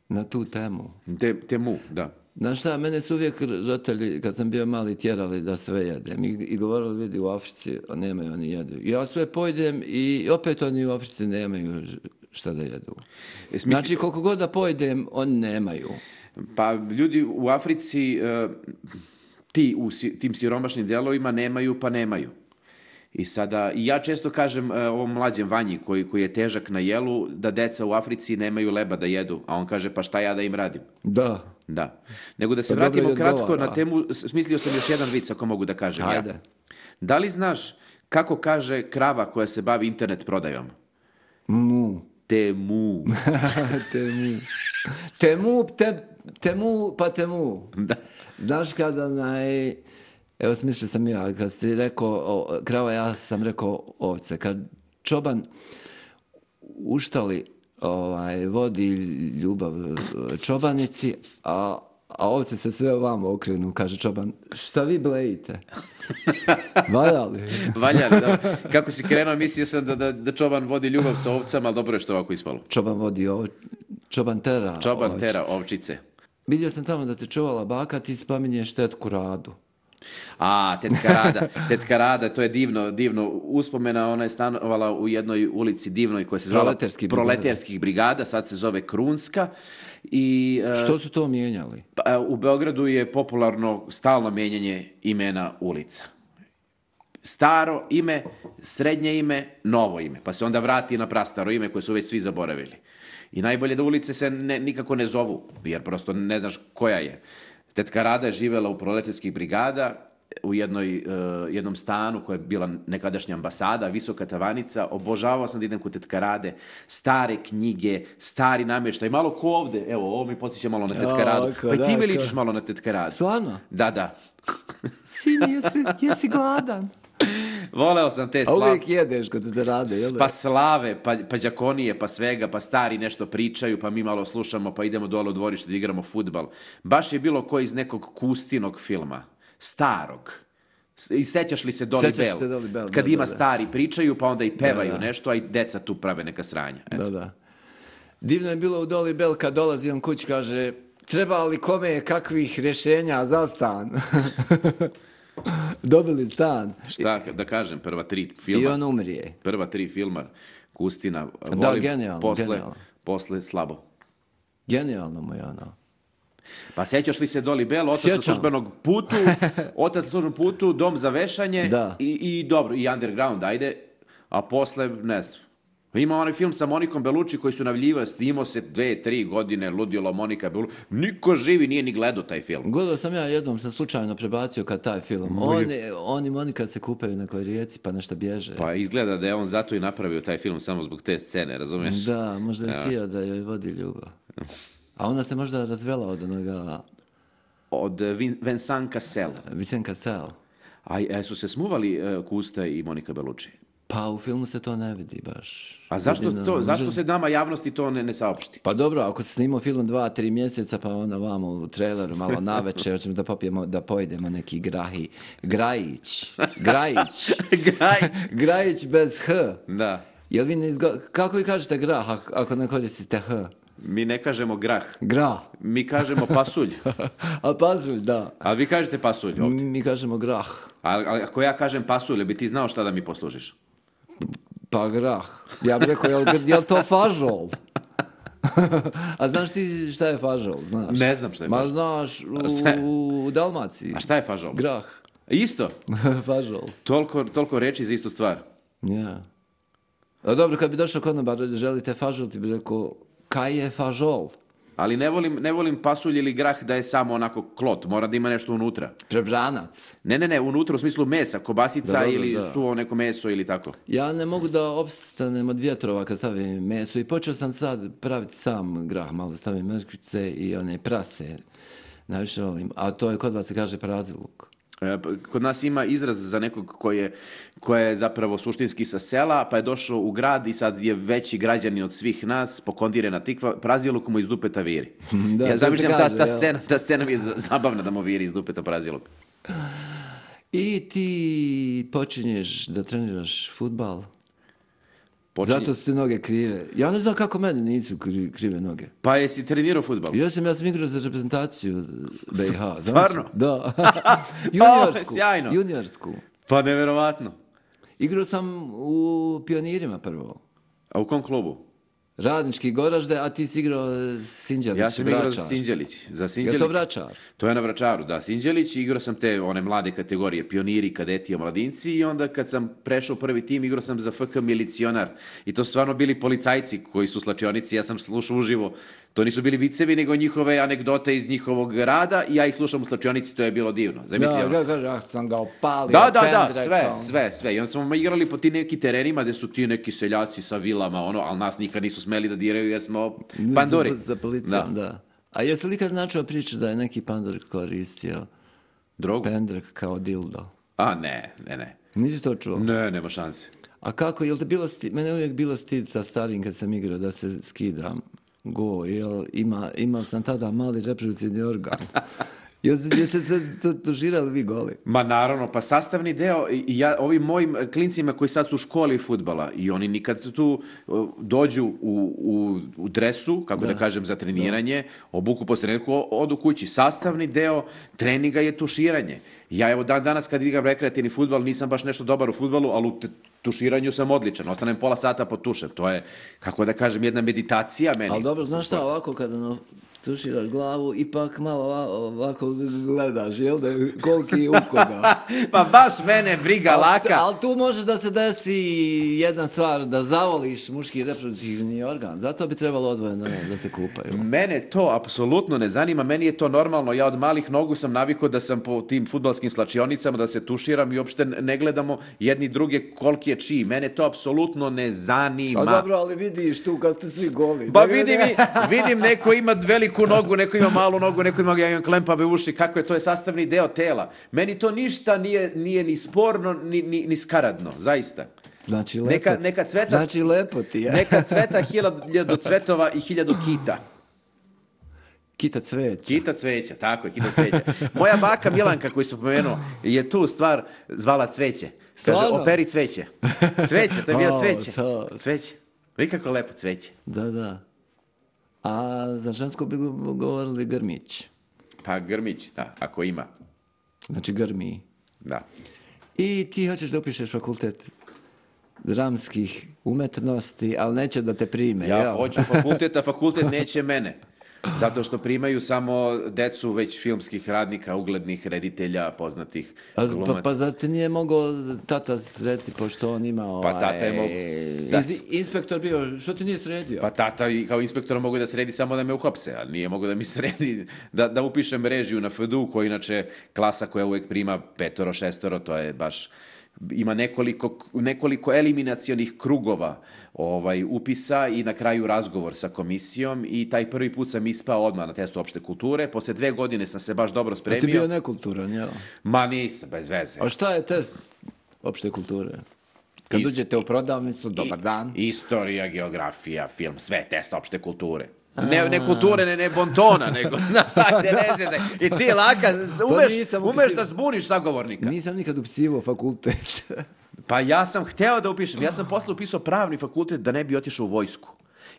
Na tu temu. Te, temu, da. Znaš šta, mene su uvijek roditelji, kad sam bio mali, tjerali da sve jedem. I, i govorili, vidi, u Africi nemaju, oni jedu. I ja sve pojedem i opet oni u Africi nemaju ž- šta da jedu. Jes misli- Znači, koliko god da pojedem, oni nemaju. Pa ljudi u Africi, e, ti u si- tim siromašnim dijelovima nemaju, pa nemaju. I sada, i ja često kažem e, ovom mlađem Vanji koji, koji je težak na jelu, da deca u Africi nemaju leba da jedu. A on kaže, pa šta ja da im radim? Da. Da. Nego da se Pa dobro vratimo i kratko odgovara. na temu, smislio sam još jedan vic ako mogu da kažem Ajde. ja. Da li znaš kako kaže krava koja se bavi internet prodajom? Mu. Temu. temu. Temu, te, temu, pa temu. Da. Znaš kada onaj... Evo smislio sam ja, kad si rekao o, krava, ja sam rekao ovce. Kad čoban uštali ovaj, vodi ljubav čobanici, a, a ovce se sve ovamo okrenu, kaže čoban, šta vi blejite? Valja li? Valja, da. Kako si krenuo, mislio sam da, da, da čoban vodi ljubav sa ovcama, ali dobro je što ovako ispalo. Čoban vodi ov... Čoban tera Čoban ovčice. tera ovčice. Vidio sam tamo da te čuvala baka, ti spominješ tetku Radu. A, tetka Rada, tetka Rada, to je divno, divno uspomena, ona je stanovala u jednoj ulici divnoj koja se zvala Proleterskih brigada. Proleterskih brigada, sad se zove Krunska. I, e, Što su to mijenjali? pa, u Beogradu je popularno stalno mijenjanje imena ulica. Staro ime, srednje ime, novo ime, pa se onda vrati na prastaro ime koje su već svi zaboravili. I najbolje da ulice se ne, nikako ne zovu, jer prosto ne znaš koja je. Tetka Rada je živjela u Proleterskih brigada, u jednoj, uh, jednom stanu koja je bila nekadašnja ambasada, visoka tavanica, obožavao sam da idem kod tetkarade, stare knjige, stari namještaj, malo ko ovde, evo, ovo mi podsjeća malo na tetkaradu, O, pa i ti da, mi ko... ličiš malo na tetkaradu. Stvarno? Da, da. Sini, jesi, jesi gladan? Voleo sam te A slave. uvijek jedeš kod te rade, jel? Pa slave, pa, pa đakonije, pa svega, pa stari nešto pričaju, pa mi malo slušamo, pa idemo dole u dvorište da igramo fudbal. Baš je bilo ko iz nekog Kustinog filma, starog. I sećaš li se Dolly Sećaš Bell? se Dolly Bell, Kad da, ima da, da. stari pričaju, pa onda i pevaju Da, da. nešto, a i deca tu prave neka sranja. Eto. Da, da. Divno je bilo u Dolly Bell kad dolazi on kući, kaže, treba li kome kakvih rješenja za stan? Dobili stan. Šta da kažem, prva tri filma. I on umrije. Prva tri filma Kustina. Da, volim, genijalno, posle, genijalno. posle slabo. Genijalno mu je ono. Pa sećaš li se Dolly Bell, otac Sjećam. na službenog putu, otac na službenom putu, dom za vešanje Da. i, i dobro, i underground, ajde, a posle, ne znam. Ima onaj film sa Monikom Bellucci koji su navljiva, snimao se dve, tri godine, ludilo Monika Bellucci. Niko živi nije ni gledao taj film. Gledao sam ja jednom, sam slučajno prebacio kad taj film. On, on i Monika se kupaju na nekoj rijeci pa nešto bježe. Pa izgleda da je on zato i napravio taj film samo zbog te scene, razumiješ? Da, možda je htio da joj vodi ljubav. A ona se možda razvela od onoga Od Vin- Vincent Cassel. Vincent Cassel. A e, su se smuvali uh, Kusta i Monika Bellucci? Pa u filmu se to ne vidi baš. A zašto, Jedino, to, može- zašto se nama javnosti to ne, ne saopšti? Pa dobro, ako se snimao film dva, tri mjeseca, pa onda vamo u traileru malo naveče, hoćemo da popijemo, da pojedemo neki grahi. Grajić. Grajić. Gajić. Grajić bez H. Da. Jel vi ne izgo... Kako vi kažete grah ak- ako ne koristite H? Mi ne kažemo grah, Grah. mi kažemo pasulj. A pasulj, da. A vi kažete pasulj ovdje. Mi kažemo grah. A, a ako ja kažem pasulj, bi ti znao šta da mi poslužiš? Pa grah. Ja bih rekao, jel, gr- jel to fažol? A znaš ti šta je fažol? Znaš? Ne znam šta je Ma fažol. znaš, A šta je? u, u Dalmaciji. A šta je fažol? Grah. Isto. Fažol. Toliko, toliko reči za istu stvar. Ja. A dobro, kad bi došao kod nama, želite fažol, ti bi rekao, kaj je fažol? Ali ne volim, ne volim pasulj ili grah da je samo onako klot. Mora da ima nešto unutra. Prebranac. Ne, ne, ne, unutra u smislu mesa, kobasica Da, da, ili da. suvo neko meso ili tako. Ja ne mogu da opstanem od vjetrova kad stavim meso i počeo sam sad praviti sam grah, malo stavim mrkvice i one prase. Najviše volim. A to je kod vas se kaže praziluk. E, p- Kod nas ima izraz za nekog ko je, ko je zapravo suštinski sa sela, pa je došao u grad i sad je veći građanin od svih nas, pokondirena tikva, praziluk mu iz dupeta viri. Da, to ja se zamišljam, ta, kaže, ta, jel? scena, ta scena mi je za- zabavna da mu viri iz dupeta praziluk. I ti počinješ da treniraš fudbal. Počinje- Zato su ti noge krive. Ja ne znam kako meni nisu kri- krive noge. Pa jesi trenirao fudbal? Ja sam, ja sam igrao za reprezentaciju B i H. Stvarno? Da. juniorsku. sjajno. Juniorsku. Pa neverovatno. Igrao sam u Pionirima prvo. A u kom klubu? Radnički Goražde, a ti si igrao Sinđelić, Ja sam igrao za Vračar. Sinđelić. Za Je Sinđelić. to Vračar? To je na Vračaru, da. Sinđelić, i igrao sam te one mlade kategorije, pioniri, kadeti, omladinci, i onda kad sam prešao u prvi tim, igrao sam za F K Milicionar. I to su stvarno bili policajci koji su slačionici, ja sam slušao uživo. To nisu bili vicevi, nego njihove anegdote iz njihovog rada i ja ih slušam u slačionici, to je bilo divno. Zamisli, Da, ono. ga kaže, ah, sam ga opalio. Da, da, da, pendrekom. sve, sve, sve. I onda smo igrali po ti neki terenima gde su ti neki seljaci sa vilama, ono, ali nas nikad nisu smeli da diraju jer smo panduri. Za, za policijom, da. A jesi li kad načeo priču da je neki pandor koristio Drogu? pendrek kao dildo? A, ne, ne, ne. Nisi to čuo? Ne, nema šanse. A kako, jel te bilo stid, mene je uvijek bilo stid sa starim kad sam igrao da se skidam go, jel ima, imao sam tada mali reproduktivni organ. Jel, jeste se to- tužirali vi goli? Ma naravno, pa sastavni deo, i ja, ovim mojim klincima koji sad su u školi fudbala i oni nikad tu uh, dođu u, u, u dresu, kako da, kažem, za treniranje, obuku posle trenutku, odu kući. Sastavni deo treninga je tuširanje. Ja evo dan danas kad igram rekreativni fudbal nisam baš nešto dobar u fudbalu, ali u t- tuširanju sam odličan. Ostanem pola sata pod tušem. To je, kako da kažem, jedna meditacija meni. Ali dobro, znaš šta, ovako kada ono, tuširaš glavu, ipak malo ovako gledaš, jel da, koliki je u koga. Pa baš mene briga laka. Ali tu može da se desi jedna stvar, da zavoliš muški reproduktivni organ. Zato bi trebalo odvojeno da se kupaju. Mene to apsolutno ne zanima, meni je to normalno. Ja od malih nogu sam navikao da sam po tim fudbalskim slačionicama, da se tuširam i uopšte ne gledamo jedni druge koliki je čiji. Mene to apsolutno ne zanima. A dobro, ali vidiš tu kad ste svi goli. Ba vidim, vidim neko ima veliku nogu, neko ima malu nogu, neko ima, ja imam klempave uši, kako je, to je sastavni deo tela. Meni to ništa nije, nije ni sporno, ni, ni, ni skaradno, zaista. Znači lepo, neka, neka cveta, znači lepo ti je. Neka cveta hiljadu cvetova i hiljadu kita. Kita cveća. Kita cveća, tako je, kita cveća. Moja baka Milanka, koju sam pomenuo, je tu stvar zvala cveće. Kaže, Stvarno? operi cveće. Cveće, to je bilo O, cveće. to. Cveće. Vidi kako lepo cveće. Da, da. A za žensko bi govorili grmić. Pa grmić, da, ako ima. Znači grmi. Da. I ti hoćeš da upišeš fakultet dramskih umetnosti, ali neće da te prime. Ja jel? hoću fakultet, a fakultet neće mene. Zato što primaju samo decu već filmskih radnika, uglednih reditelja, poznatih A, glumaca. pa, pa zar ti nije mogao tata sredi, pošto on ima ovaj, Pa tata je mogo- da. iz- inspektor bio, što ti nije sredio? Pa tata i kao inspektor mogu da sredi samo da me uhapse, ali nije mogu da mi sredi, da, da upišem režiju na F D U, koja je inače klasa koja uvijek prima petoro, šestoro, to je baš, ima nekoliko, nekoliko eliminacionih krugova ovaj, upisa i na kraju razgovor sa komisijom i taj prvi put sam ispao odmah na testu opšte kulture, posle dve godine sam se baš dobro A spremio. ti bio nekulturan, jel? Ma nisam, bez veze. A šta je test opšte kulture? Kad Is- uđete u prodavnicu, dobar I- dan. Istorija, geografija, film, sve test opšte kulture. Ne, ne kulture, ne, ne bontona, nego ne, ne zezaj. I ti laka, umeš, nisam umeš upisivao. da zbuniš sagovornika. Nisam nikad upisivao fakultet. Pa ja sam hteo da upišem. Ja sam posle upisao pravni fakultet da ne bi otišao u vojsku.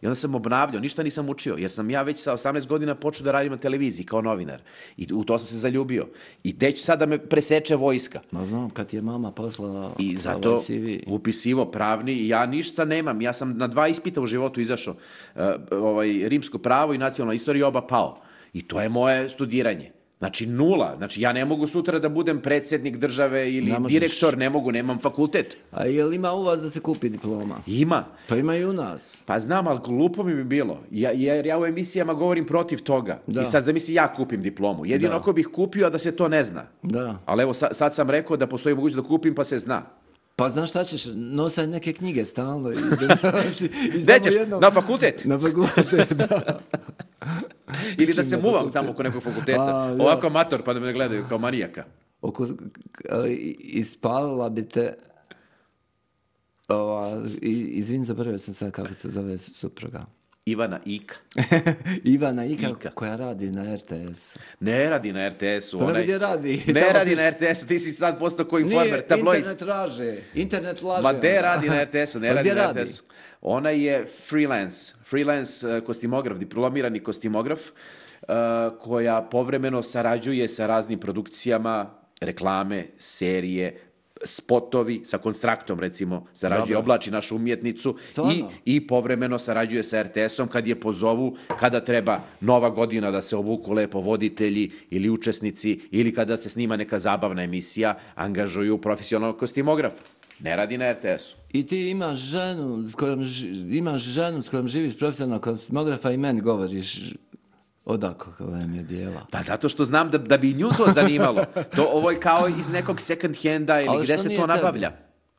I onda sam obnavljao, ništa nisam učio, jer sam ja već sa osamnaest godina počeo da radim na televiziji kao novinar. I u to sam se zaljubio. I teć sad da me preseče vojska. Ma znam, kad ti je mama poslala I ovaj zato C V. upisivo pravni i ja ništa nemam. Ja sam na dva ispita u životu izašao. Uh, ovaj, rimsko pravo i nacionalna istorija, oba pao. I to je moje studiranje. Znači nula. Znači ja ne mogu sutra da budem predsjednik države ili Ne možeš. direktor, ne mogu, nemam fakultet. A jel ima u vas da se kupi diploma? Ima. Pa ima i u nas. Pa znam, ali glupo mi bi bilo. Ja, jer ja u emisijama govorim protiv toga. Da. I sad zamisli ja kupim diplomu. Jedino Da. ako bih kupio, a da se to ne zna. Da. Ali evo, sa- sad sam rekao da postoji mogućnost da kupim, pa se zna. Pa znaš šta ćeš, nosaj neke knjige stalno. I, da nosi- i Gde samo ćeš? jednom- Na fakultet? Na fakultet, da. Ili da se na muvam fakultet. tamo oko nekog fakulteta. A, da. Ovako amator, pa da me gledaju kao manijaka. Oko, ali ispalila bi te, ova, i- izvin, zaboravio sam sad kako se zove supruga. Ivana Ika. Ivana Ika, Ika. koja radi na R T S. Ne radi na R T S-u. Pa onaj- gdje radi? Ne Tamo radi piše- na R T S-u, ti si sad postao ko informer, Nije, tabloid. internet laže. Internet laže. Ma gde ona. radi na R T S-u, ne Pa radi gdje na radi? R T S-u. Ona je freelance, freelance uh, kostimograf, diplomirani kostimograf, uh, koja povremeno sarađuje sa raznim produkcijama, reklame, serije, spotovi, sa Konstraktom recimo, sarađuje, Dobro. oblači našu umjetnicu i, Stvarno? i povremeno sarađuje sa R T S-om kad je pozovu, kada treba nova godina da se obuku lepo voditelji ili učesnici ili kada se snima neka zabavna emisija, angažuju profesionalnog kostimografa. Ne radi na R T S-u. I ti imaš ženu s kojom, ži- imaš ženu s kojom živiš profesionalnog kosmografa i meni govoriš odakle mi je dijela. Pa zato što znam da, da bi nju to zanimalo. To ovo je kao iz nekog second handa ili Ali gde što se nije to tebi? nabavlja.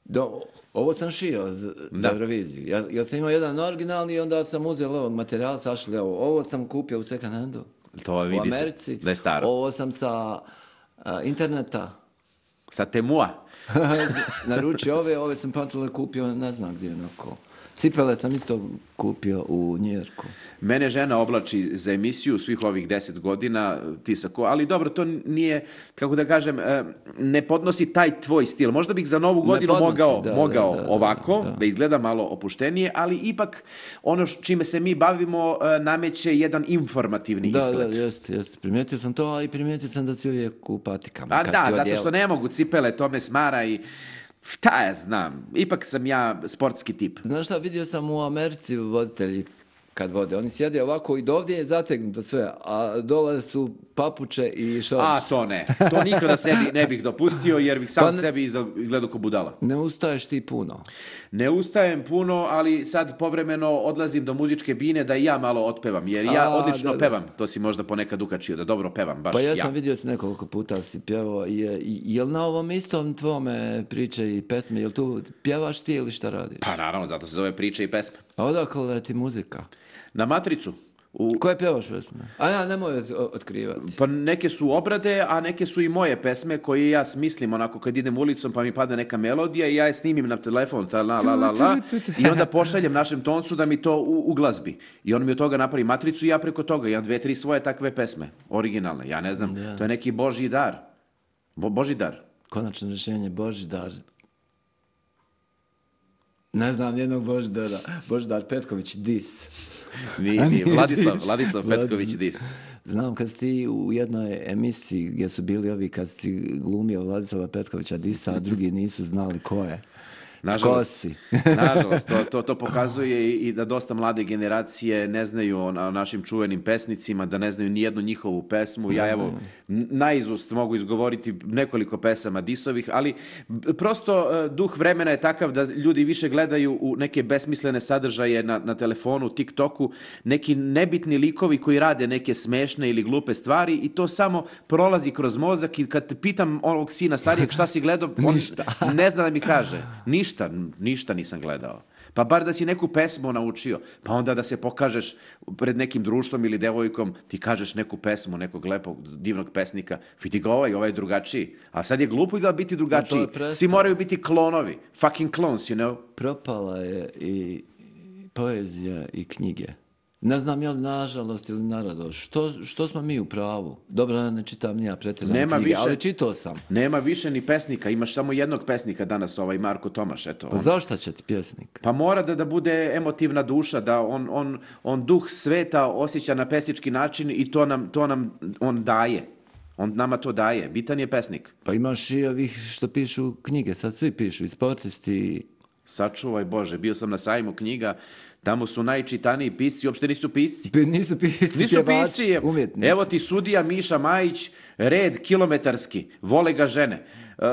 Do, ovo sam šio za, za Da. Euroviziju. Ja, ja sam imao jedan originalni i onda sam uzeo ovog materijala, sašli ovo. Ovo sam kupio u second handu. To U vidi se Americi. da je staro. Ovo sam sa a, interneta Sa Temua. naručio ove, ove sam patrole kupio, ne znam gdje onako. Cipele sam isto kupio u Njujorku. Mene žena oblači za emisiju svih ovih deset godina, ti sa ko, ali dobro, to nije, kako da kažem, eh, ne podnosi taj tvoj stil. Možda bih za novu Ne godinu podnosi, mogao, da, mogao da, da, ovako, da. da izgleda malo opuštenije, ali ipak ono š- čime se mi bavimo eh, nameće jedan informativni Da, izgled. da, jeste, jeste. Primijetio sam to, a i primijetio sam da si uvijek u patikama. A kad da, si zato odjel- što ne mogu cipele, to me smara i šta ja znam, ipak sam ja sportski tip. Znaš šta, vidio sam u Americi voditelji kad vode. Oni sjede ovako i do ovdje je zategnuto sve, a dole su papuče i šorci. A, to ne. To nikada sebi ne bih dopustio, jer bih sam Pa ne- sebi izgledao ko budala. Ne ustaješ ti puno. Ne ustajem puno, ali sad povremeno odlazim do muzičke bine da i ja malo otpevam, jer ja A, odlično da, da. pevam. To si možda ponekad ukačio, da dobro pevam, baš Pa ja ja. sam vidio si nekoliko puta si pjevao. Je, je li na ovom istom tvome priče i pesme, je li tu pjevaš ti ili šta radiš? Pa naravno, zato se zove priče i pesme. A odakle je ti muzika? Na Matricu. U, Koje pjevaš pesme? A ja, nemoj od- otkrivati. pa neke su obrade, a neke su i moje pesme koje ja smislim onako kad idem ulicom pa mi padne neka melodija i ja je snimim na telefon ta la la la la i onda pošaljem našem toncu da mi to u, uglazbi. I on mi od toga napravi matricu i ja preko toga imam dve, tri svoje takve pesme, originalne. Ja ne znam, Da. to je neki božji dar. Bo, božji dar. Konačno rješenje Božidar. Ne znam jednog Božidara. Božidar Petković, dis. Ni, A ni, nije Vladislav, dis. Vladislav Vlad- Petković dis. Znam kad si ti u jednoj emisiji gdje su bili ovi kad si glumio Vladislava Petkovića disa, a drugi nisu znali ko je. Ko Nažalost, si? nažalost to, to, to pokazuje i, i da dosta mlade generacije ne znaju o, na- o našim čuvenim pesnicima, da ne znaju ni jednu njihovu pesmu. Ja evo, n- naizust mogu izgovoriti nekoliko pesama disovih, ali b- prosto e, duh vremena je takav da ljudi više gledaju u neke besmislene sadržaje na, na telefonu, TikToku, neki nebitni likovi koji rade neke smešne ili glupe stvari i to samo prolazi kroz mozak i kad pitam ovog sina starijeg šta si gledao, on Ništa. ne zna da mi kaže. Ništa, ništa nisam gledao. Pa bar da si neku pesmu naučio, pa onda da se pokažeš pred nekim društvom ili devojkom, ti kažeš neku pesmu, nekog lepog, divnog pesnika, vidi ga ovaj, ovaj je drugačiji. A sad je glupo izgleda biti drugačiji. to je predstava. Svi moraju biti klonovi. Fucking clones, you know? Propala je i poezija i knjige. Ne znam je li nažalost ili naradost. Što, što smo mi u pravu? Dobro, ja ne čitam ni ja pretjerano Nema knjige, više- ali čitao sam. Nema više ni pesnika, imaš samo jednog pesnika danas, ovaj Marko Tomaš, eto. Pa on- zašto će ti pjesnik? Pa mora da, da bude emotivna duša, da on, on, on duh sveta osjeća na pesnički način i to nam, to nam on daje. On nama to daje. Bitan je pesnik. Pa imaš i ovih što pišu knjige, sad svi pišu, i sportisti. Sačuvaj Bože, bio sam na sajmu knjiga, tamo su najčitaniji pisci, uopšte nisu pisci. Pi- Nisu pisci, Nisu pjevači, pisci, je- umjetnici. evo ti sudija Miša Majić, red kilometarski, vole ga žene. Uh,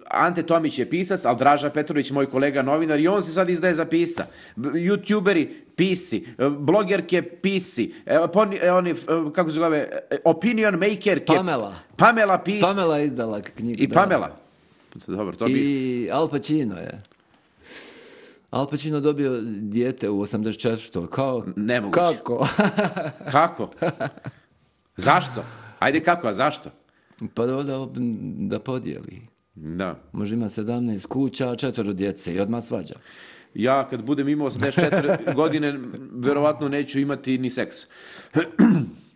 Ante Tomić je pisac, ali Draža Petrović, moj kolega novinar, i on se sad izdaje za pisca. B- Youtuberi, pisci, uh, blogerke, pisci, evo, poni, e, oni, uh, kako se zove, e, opinion makerke. Pamela. Pamela pisci. Pamela je izdala knjigu. I da. Pamela. Dobro, to bi... I Al Pacino je. Al Pacino dobio dijete u osamdeset četvrtoj. Kao, Nemoguće. Kako? Kako? Zašto? Ajde kako, a zašto? Pa da, da, da podijeli. Da. Može ima sedamnaest kuća, četvero djece i odmah svađa. Ja kad budem imao osamdeset četiri godine, verovatno neću imati ni seks.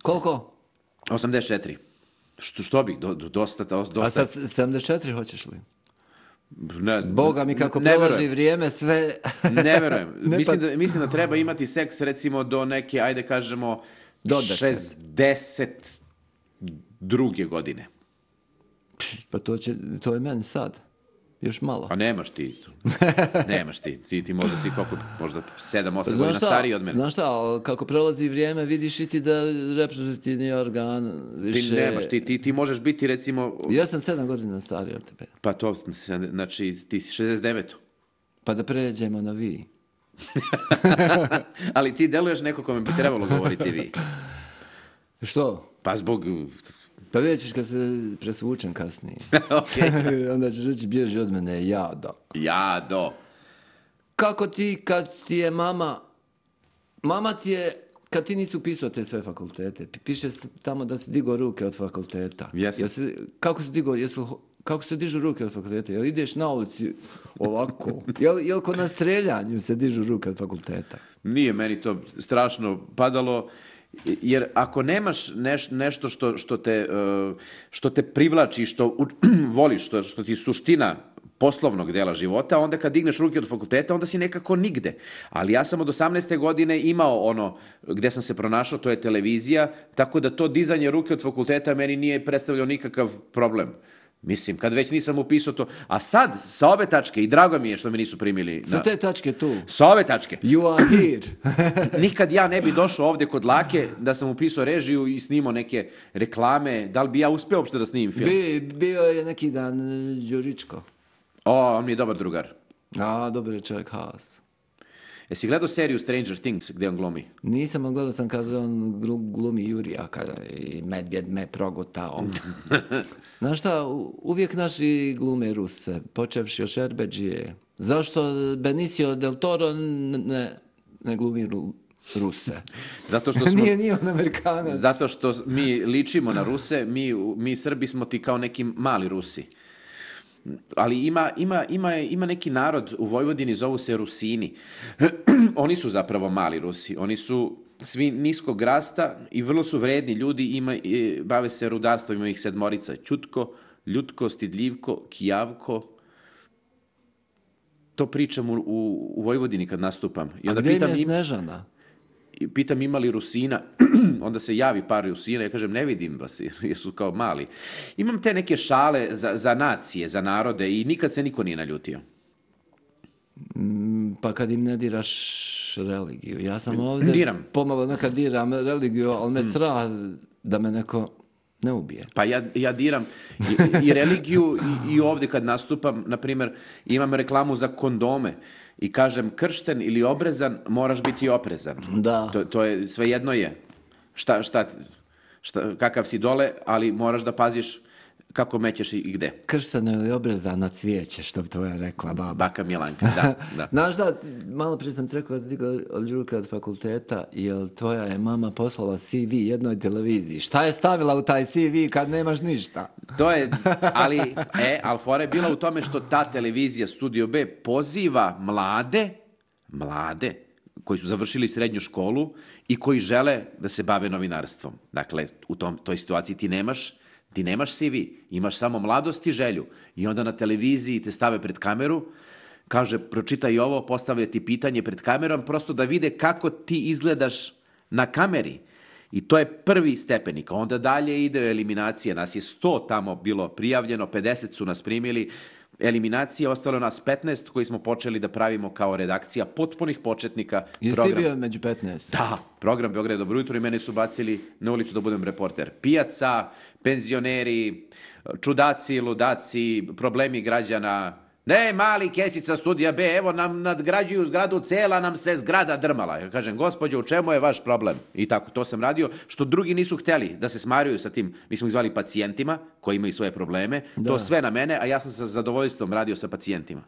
Koliko? osamdeset četiri. Što, što bih? Do, do- dosta, dosta. A sad sedamdeset četiri hoćeš li? Ne znam. Boga mi kako Ne prolazi verujem. vrijeme sve... Ne verujem. Ne, mislim, pa- da, mislim da treba imati seks recimo do neke, ajde kažemo, Do deset. šezdeset druge godine. Pa to, će, to je meni sad. Još malo. Pa nemaš ti. Nemaš ti. Ti, ti možda si koliko, možda sedam, osam Znaš godina šta, stariji od mene. Znaš šta, ali kako prolazi vrijeme, vidiš i ti da reproduktivni organ Ti više... nemaš, ti, ti, ti možeš biti recimo, Ja sam sedam godina stariji od tebe. pa to, znači ti si šezdeset devet. Pa da pređemo na vi. Ali ti deluješ neko kome bi trebalo govoriti vi. Što? Pa zbog... Pa vidjet ćeš kad se presvučem kasnije. Okej. Onda ćeš reći bježi od mene, ja da. Ja, do. Kako ti kad ti je mama... Mama ti je... Kad ti nisi upisao te sve fakultete, pi- piše s- tamo da si digao ruke od fakulteta. Jesam. Jesi, kako si digao, jesu, kako se dižu ruke od fakulteta? Jel ideš na ulici ovako? Jel, jel ko na streljanju se dižu ruke od fakulteta? Nije meni to strašno padalo, jer ako nemaš neš, nešto što, što, te, eh, što te privlači, što u- voliš, što, što ti je suština poslovnog dela života, onda kad digneš ruke od fakulteta, onda si nekako nigde. Ali ja sam od osamnaeste godine imao ono gde sam se pronašao, to je televizija, tako da to dizanje ruke od fakulteta meni nije predstavljao nikakav problem. Mislim, kad već nisam upisao to. A sad, sa ove tačke, i drago mi je što me nisu primili. Sa te tačke tu. Sa ove tačke. You are here. Nikad ja ne bi došao ovdje kod Lake da sam upisao režiju i snimao neke reklame. Da li bi ja uspio uopšte da snimim film? Bi, bio je neki dan Đuričko. O, on mi je dobar drugar. A, dobar je čovjek, Haas. Jesi gledao seriju Stranger Things gdje on glumi? Nisam, ali gledao sam kada on glumi Jurija, kada i medvjed me progutao. Znaš šta, uvijek naši glume Ruse, počevši od Šerbeđije. Zašto Benicio del Toro ne, ne glumi ru, Ruse? Zato što smo, nije, nije on Amerikanac. Zato što mi ličimo na Ruse, mi, mi Srbi smo ti kao neki mali Rusi. Ali ima, ima, ima, ima neki narod u Vojvodini, zovu se Rusini. Oni su zapravo mali Rusi. Oni su svi niskog rasta i vrlo su vredni ljudi, ima, bave se rudarstvom, ima ih sedmorica. Ćutko, Ljutko, Stidljivko, Kijavko. To pričam u, u, u Vojvodini kad nastupam. I onda A gdje pitam im je im, Snežana? pitam ima li Rusina, onda se javi par Rusina, ja kažem ne vidim vas jer su kao mali. Imam te neke šale za, za nacije, za narode i nikad se niko nije naljutio. Mm, pa kad im ne diraš religiju. Ja sam ovdje Diram. pomalo nekad diram religiju, ali me strah da me neko ne ubije. Pa ja, ja diram i, i religiju i, i ovdje kad nastupam, na primjer, imam reklamu za kondome. I kažem, kršten ili obrezan, moraš biti oprezan. Da. To, to je, svejedno je. Šta, šta, šta, kakav si dole, ali moraš da paziš kako mećeš i, i gde. Kršteno ili obrezano cvijeće, što bi tvoja rekla baba. Baka Milanka, da. da. Znaš da, malo prije sam rekao da ti od Ljulka od fakulteta, jer tvoja je mama poslala C V jednoj televiziji. Šta je stavila u taj C V kad nemaš ništa? To je, ali, e, ali fora je bila u tome što ta televizija Studio B poziva mlade, mlade, koji su završili srednju školu i koji žele da se bave novinarstvom. Dakle, u tom, toj situaciji ti nemaš, ti nemaš C V, imaš samo mladost i želju. I onda na televiziji te stave pred kameru, kaže, pročitaj ovo, postavlja ti pitanje pred kamerom, prosto da vide kako ti izgledaš na kameri. I to je prvi stepenik. Onda dalje ide eliminacija. Nas je sto tamo bilo prijavljeno, pedeset su nas primili. Eliminacija, ostalo nas petnaest koji smo počeli da pravimo kao redakcija potpunih početnika. Jesi ti bio među petnaest? Da, program Beograd dobro jutro i mene su bacili na ulicu da budem reporter. Pijaca, penzioneri, čudaci, ludaci, problemi građana. Ne, mali Kesica Studija B, evo nam nadgrađuju zgradu, cela nam se zgrada drmala. Ja kažem, gospođo, u čemu je vaš problem? I tako, to sam radio, što drugi nisu htjeli da se smaruju sa tim, mi smo ih zvali pacijentima, koji imaju svoje probleme, da. To sve na mene, a ja sam sa zadovoljstvom radio sa pacijentima.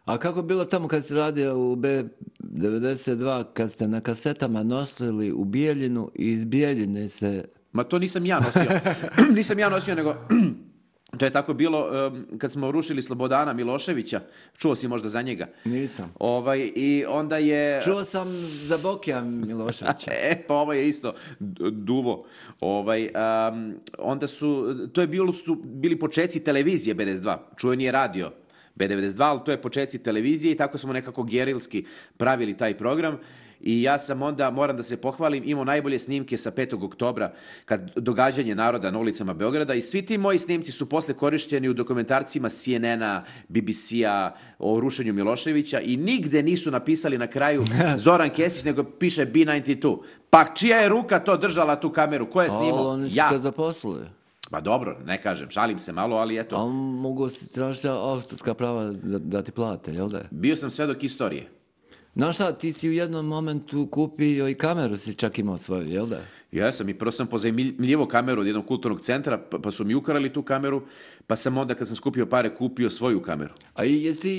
A kako je bilo tamo kad si radio u B devedeset dva, kad ste na kasetama nosili u Bijeljinu i iz Bijeljine se... Ma to nisam ja nosio, nisam ja nosio, nego... To je tako bilo um, kad smo rušili Slobodana Miloševića. Čuo si možda za njega? Nisam. Ovaj, i onda je... Čuo sam za Bokija Miloševića. e, pa ovo je isto duvo. Ovaj, um, onda su, to je bilo, su bili počeci televizije B devedeset dva. Čuveni je radio B devedeset dva, ali to je počeci televizije i tako smo nekako gerilski pravili taj program. I ja sam onda, moram da se pohvalim, imao najbolje snimke sa petog oktobra, kad događanje naroda na ulicama Beograda i svi ti moji snimci su posle korišćeni u dokumentarcima C N N-a, B B C-a o rušenju Miloševića i nigde nisu napisali na kraju Zoran Kesić, nego piše B devedeset dva. Pa čija je ruka to držala tu kameru? Ko je snimao? Ali oni su ja. te zaposlili. Pa dobro, ne kažem, šalim se malo, ali eto. Ali mogu si tražiti autorska prava da, da ti plate, jel da? Bio sam svedok istorije. Znaš šta, ti si u jednom momentu kupio i kameru, si čak imao svoju, jel da? Ja sam i prvo sam pozajmljivo kameru od jednog kulturnog centra, pa, pa su mi ukrali tu kameru, pa sam onda kad sam skupio pare kupio svoju kameru. A i jesi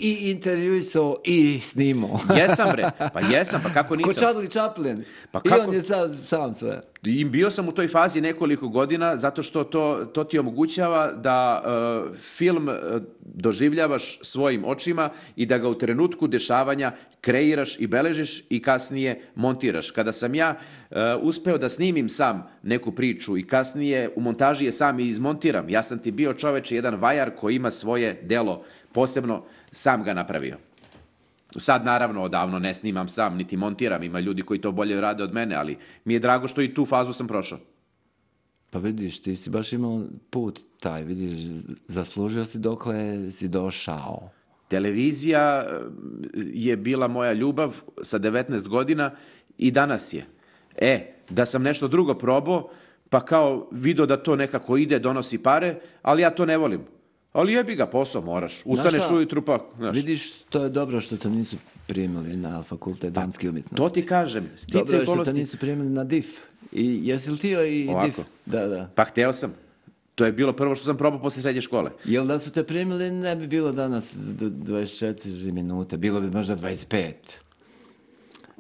i intervjuisao i snimao? Jesam bre, pa jesam, pa kako nisam? Ko Charlie Chaplin. Pa I kako... on je sam, sam sve. I bio sam u toj fazi nekoliko godina zato što to, to ti omogućava da uh, film uh, doživljavaš svojim očima i da ga u trenutku dešavanja kreiraš i beležiš i kasnije montiraš. Kada sam ja uh, uspeo da snimim sam neku priču i kasnije u montaži je sam i izmontiram, ja sam ti bio čoveče jedan vajar koji ima svoje delo, posebno sam ga napravio. Sad naravno odavno ne snimam sam, niti montiram, ima ljudi koji to bolje rade od mene, ali mi je drago što i tu fazu sam prošao. Pa vidiš, ti si baš imao put taj, vidiš, zaslužio si dokle si došao. Televizija je bila moja ljubav sa devetnaest godina i danas je. E, da sam nešto drugo probao, pa kao vidio da to nekako ide, donosi pare, ali ja to ne volim. Ali jebi ga, posao moraš. Ustaneš ujutru pa... Znaš. Vidiš, to je dobro što te nisu primili na fakultet damske umjetnosti. To ti kažem. Stice dobro je što okolosti... te nisu primili na D I F. I jesi li ti i Ovako. D I F? Da, da. Pa hteo sam. To je bilo prvo što sam probao posle srednje škole. Jel da su te primili, ne bi bilo danas dvadeset četiri minute, bilo bi možda dvadeset pet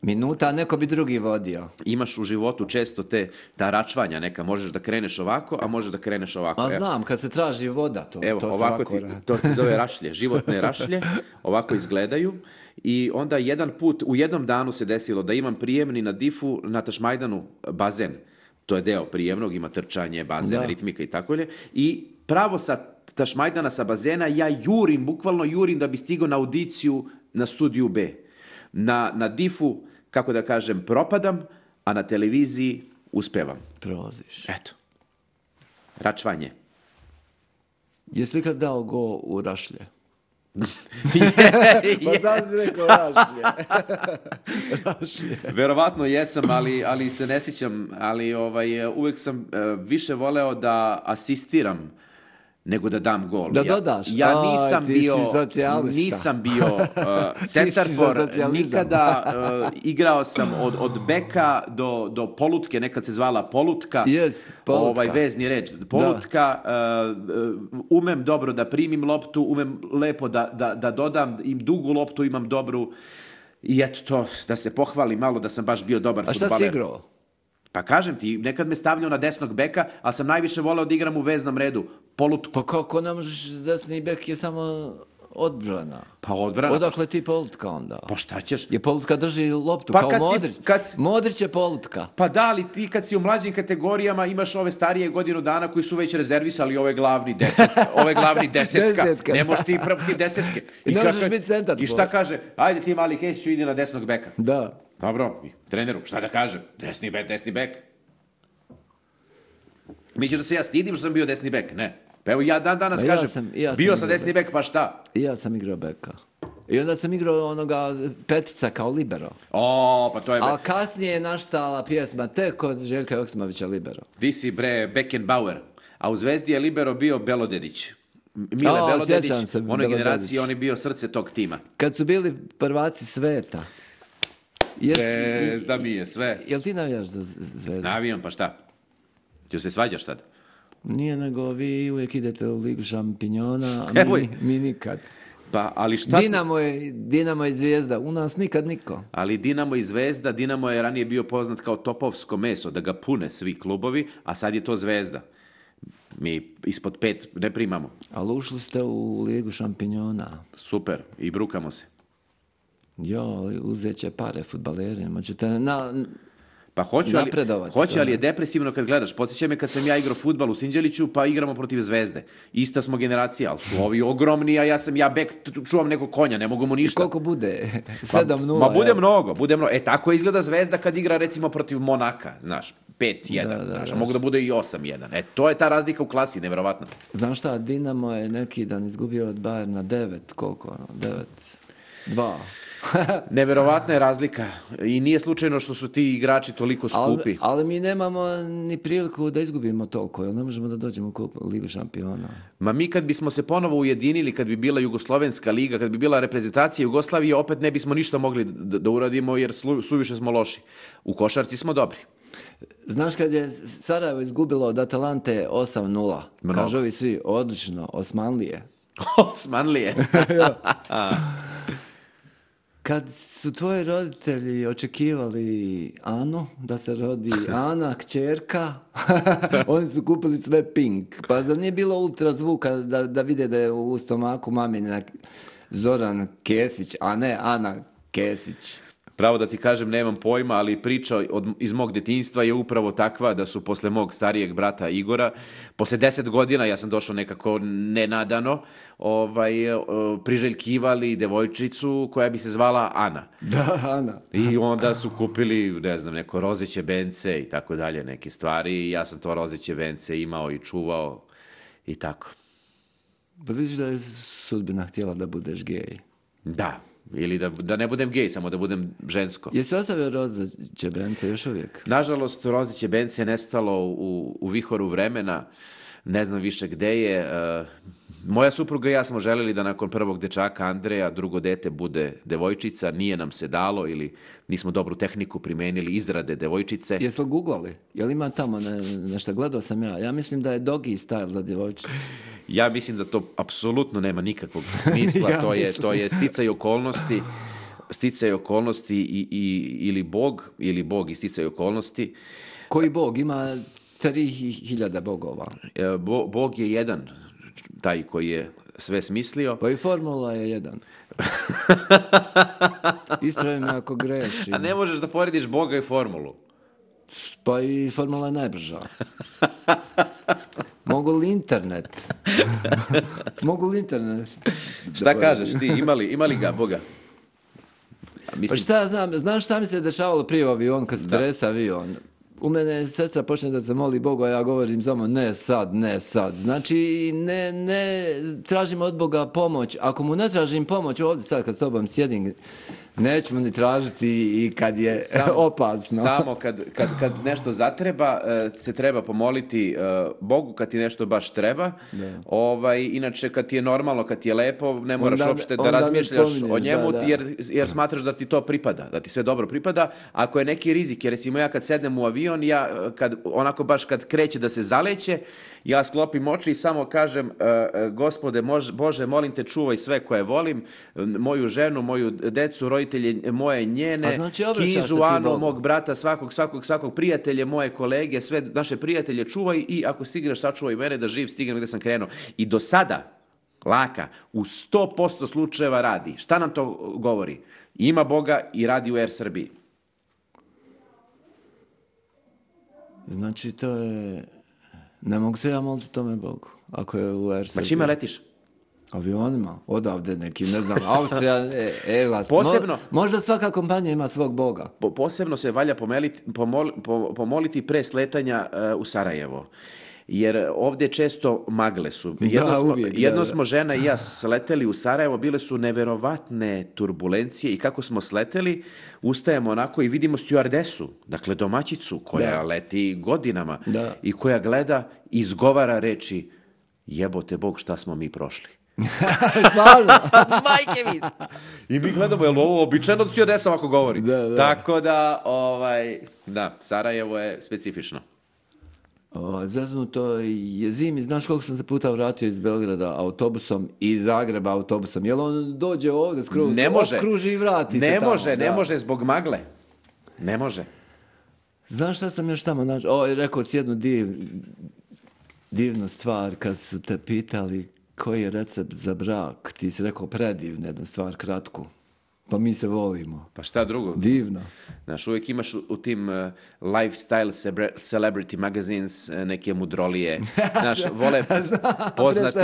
minuta, a neko bi drugi vodio. Imaš u životu često te, ta račvanja neka, možeš da kreneš ovako, a možeš da kreneš ovako. A znam, kad se traži voda, to, Evo, to ovako ti, to ti zove rašlje, životne rašlje, ovako izgledaju i onda jedan put, u jednom danu se desilo da imam prijemni na D I F-u na Tašmajdanu bazen. To je deo prijemnog, ima trčanje, bazen, da. ritmika i tako dalje. I pravo sa Tašmajdana, sa bazena, ja jurim, bukvalno jurim da bi stigao na audiciju na studiju B. Na, na D I F-u, kako da kažem, propadam, a na televiziji uspevam. Prolaziš. Eto. Račvanje. Jesi li kad dao go u rašlje? je, Pa sad si rekao rašlje. Rašlje. Verovatno jesam, ali, ali se ne sjećam, ali ovaj, uvek sam uh, više voleo da asistiram nego da dam gol. Da ja, dodaš? Ja nisam Aj, ti bio, si socijalista. nisam bio uh, centarfor, nikada uh, igrao sam od, od beka do, do polutke, nekad se zvala polutka, Jest, polutka. Ovaj vezni red, polutka, uh, umem dobro da primim loptu, umem lepo da, da, da dodam, im dugu loptu imam dobru i eto to, da se pohvalim malo da sam baš bio dobar A fudbaler. šta si igrao? Pa kažem ti, nekad me stavljao na desnog beka, ali sam najviše voleo da igram u veznom redu. Polutku. Pa kako ne možeš, desni bek je samo odbrana. Pa odbrana. Odakle ti polutka onda? Pa šta ćeš? Je polutka drži loptu, Pa kao kad si- Modrić. kad si- Modrić je polutka. Pa da, ali ti kad si u mlađim kategorijama imaš ove starije godinu dana koji su već rezervisali ove glavni deset, ove glavni desetka. Desetka. Ne možeš ti praviti desetke. I ne ka- možeš biti centar I šta tvoj. kaže? Ajde ti mali Hesiću, idi na desnog beka. Da. Dobro, i treneru, šta da kažem? Desni bek, desni bek. Mi ćeš da se ja stidim što sam bio desni bek? Ne. Pa evo ja dan danas Ma ja kažem, sam- ja sam bio sam igrao desni bek, pa šta? I ja sam igrao beka. I onda sam igrao onoga petica kao libero. O, pa to je... A kasnije je naštala pjesma tek kod Željka Joksimovića libero. Ti si bre Beckenbauer, a u Zvezdi je libero bio Belodedić. Mile O, Belodedić, sjećam se, u onoj Belodedić. generaciji on je bio srce tog tima. Kad su bili prvaci sveta. Jel, Zvezda mi je sve. jel ti navijaš za Z- Zvezdu? Navijam, pa šta? Ti se svađaš sad? Nije, nego vi uvijek idete u Ligu šampinjona, a Evo mi, je. mi nikad. Pa, ali šta smo- Dinamo je, Dinamo je Zvijezda, u nas nikad niko. Ali Dinamo i Zvezda, Dinamo je ranije bio poznat kao topovsko meso, da ga pune svi klubovi, a sad je to Zvezda. Mi ispod pet ne primamo. Ali ušli ste u Ligu šampinjona. Super, i brukamo se. Jo, uzet će pare futbalerima. Ćete na... Pa hoću, ali, Napredovati, hoću, to ali je. je depresivno kad gledaš. Podsjeća me kad sam ja igrao fudbal u Sinđeliću, pa igramo protiv Zvezde. Ista smo generacija, ali su ovi ogromni, a ja sam ja bek, t- čuvam nekog konja, ne mogu mu I ništa. koliko bude? Pa, sedam nula. Ma bude jel? mnogo, bude mnogo. E, tako izgleda Zvezda kad igra recimo protiv Monaka, znaš, pet jedan, Da, da, znaš, da. mogu da bude i osam jedan. E, to je ta razlika u klasi, nevjerovatno. Znaš šta, Dinamo je neki dan izgubio od Bayerna devet, koliko ono, devet, dva. Neverovatna je razlika i nije slučajno što su ti igrači toliko skupi. ali, ali mi nemamo ni priliku da izgubimo toliko, jer ne možemo da dođemo u kup- Ligu šampiona. Ma mi kad bismo se ponovo ujedinili, kad bi bila Jugoslovenska liga, kad bi bila reprezentacija Jugoslavije, opet ne bismo ništa mogli da, da uradimo jer slu, suviše smo loši. U košarci smo dobri. Znaš kad je Sarajevo izgubilo od Atalante osam nula, Mnogo. kažu ovi svi, odlično, Osmanlije. Osmanlije. Kad su tvoji roditelji očekivali Anu, da se rodi Ana, kćerka, oni su kupili sve pink. Pa zar nije bilo ultrazvuka da, da vide da je u stomaku mamina Zoran Kesić, a ne Ana Kesić? Pravo da ti kažem, nemam pojma, ali priča od, iz mog detinjstva je upravo takva da su posle mog starijeg brata Igora, posle deset godina, ja sam došao nekako nenadano, ovaj, priželjkivali devojčicu koja bi se zvala Ana. Da, Ana. I onda su kupili, ne znam, neko rozeće bence i tako dalje, neke stvari. I ja sam to rozeće bence imao i čuvao i tako. Pa vidiš da je sudbina htjela da budeš gej. Da. Ili da, da ne budem gej, samo da budem žensko. Jesi ostavio rozeće bence još uvijek? Nažalost, rozeće bence je nestalo u, u vihoru vremena. Ne znam više gde je. Uh, moja supruga i ja smo želeli da nakon prvog dečaka Andreja drugo dete bude devojčica. Nije nam se dalo ili nismo dobru tehniku primenili izrade devojčice. Jesi li googlali? Jel ima tamo ne, nešto? Gledao sam ja. Ja mislim da je doggy style za djevojčicu. Ja mislim da to apsolutno nema nikakvog smisla. ja to, je, to je sticaj okolnosti. Sticaj okolnosti i, i, ili Bog, ili Bog i sticaj okolnosti. Koji Bog? Ima tri hiljade bogova. Bo, Bog je jedan, taj koji je sve smislio. Pa i formula je jedan. Ispravi me ako grešim. A ne možeš da porediš Boga i formulu. Pa i formula je najbrža. Mogu li internet? Mogu li internet? Šta da kažeš ti? Imali, imali ga Boga? Mislim... Pa šta ja znam? Znaš šta mi se dešavalo prije u avion, kad se trese avion? U mene sestra počne da se moli Bogu, a ja govorim samo ne sad, ne sad. Znači, ne, ne tražim od Boga pomoć. Ako mu ne tražim pomoć ovdje sad kad s tobom sjedim, nećemo ni tražiti i kad je samo, opasno. Samo kad, kad, kad nešto zatreba, se treba pomoliti Bogu kad ti nešto baš treba. Ovaj, inače, kad ti je normalno, kad ti je lepo, ne moraš onda, uopšte da razmišljaš o njemu, da, da. Jer, jer smatraš da ti to pripada, da ti sve dobro pripada. Ako je neki rizik, jer recimo ja kad sednem u avion, ja kad, onako baš kad kreće da se zaleće, ja sklopim oči i samo kažem, Gospode, mož, Bože, molim te, čuvaj sve koje volim, moju ženu, moju decu, roditelje moje, njene, znači, Kizu, Anu, mog brata, svakog, svakog, svakog prijatelje, moje kolege, sve naše prijatelje čuvaj i ako stigneš, sačuvaj mene da živ stignem gde sam krenuo. I do sada, Laka, u sto posto slučajeva radi. Šta nam to govori? Ima Boga i radi u Air Srbiji. Znači, to je... Ne mogu se ja moliti tome Bogu, ako je u Air Srbiji. Pa čime letiš? Avionima, odavde neki, ne znam, Austrija, e, Elas. Posebno, Mo, možda svaka kompanija ima svog Boga. Po, posebno se valja pomoliti, pomol, pomoliti pre sletanja uh, u Sarajevo. Jer ovdje često magle su. Jedno, da, smo, uvijek, jedno da, smo žena i ja sleteli u Sarajevo, bile su neverovatne turbulencije i kako smo sleteli, ustajemo onako i vidimo stjuardesu, dakle domaćicu koja da. leti godinama da. i koja gleda i izgovara reči jebote Bog šta smo mi prošli. Majke mi! I mi gledamo, je li ovo običajno da stjuardesa ovako govori? Da, da. Tako da, ovaj, da, Sarajevo je specifično. Zeznuto je zimi, znaš koliko sam se puta vratio iz Beograda autobusom i iz Zagreba autobusom, jel on dođe ovdje skroz, ne može, okruži i vrati ne se tamo. Može, da. ne može zbog magle, ne može. Znaš šta sam još tamo našao? O, rekao si jednu div, divnu stvar kad su te pitali koji je recept za brak, ti si rekao predivnu jednu stvar, kratku. Pa mi se volimo. Pa šta drugo? Divno. Znaš, uvijek imaš u, u tim uh, lifestyle celebrity magazines uh, neke mudrolije. Znaš, vole poznati,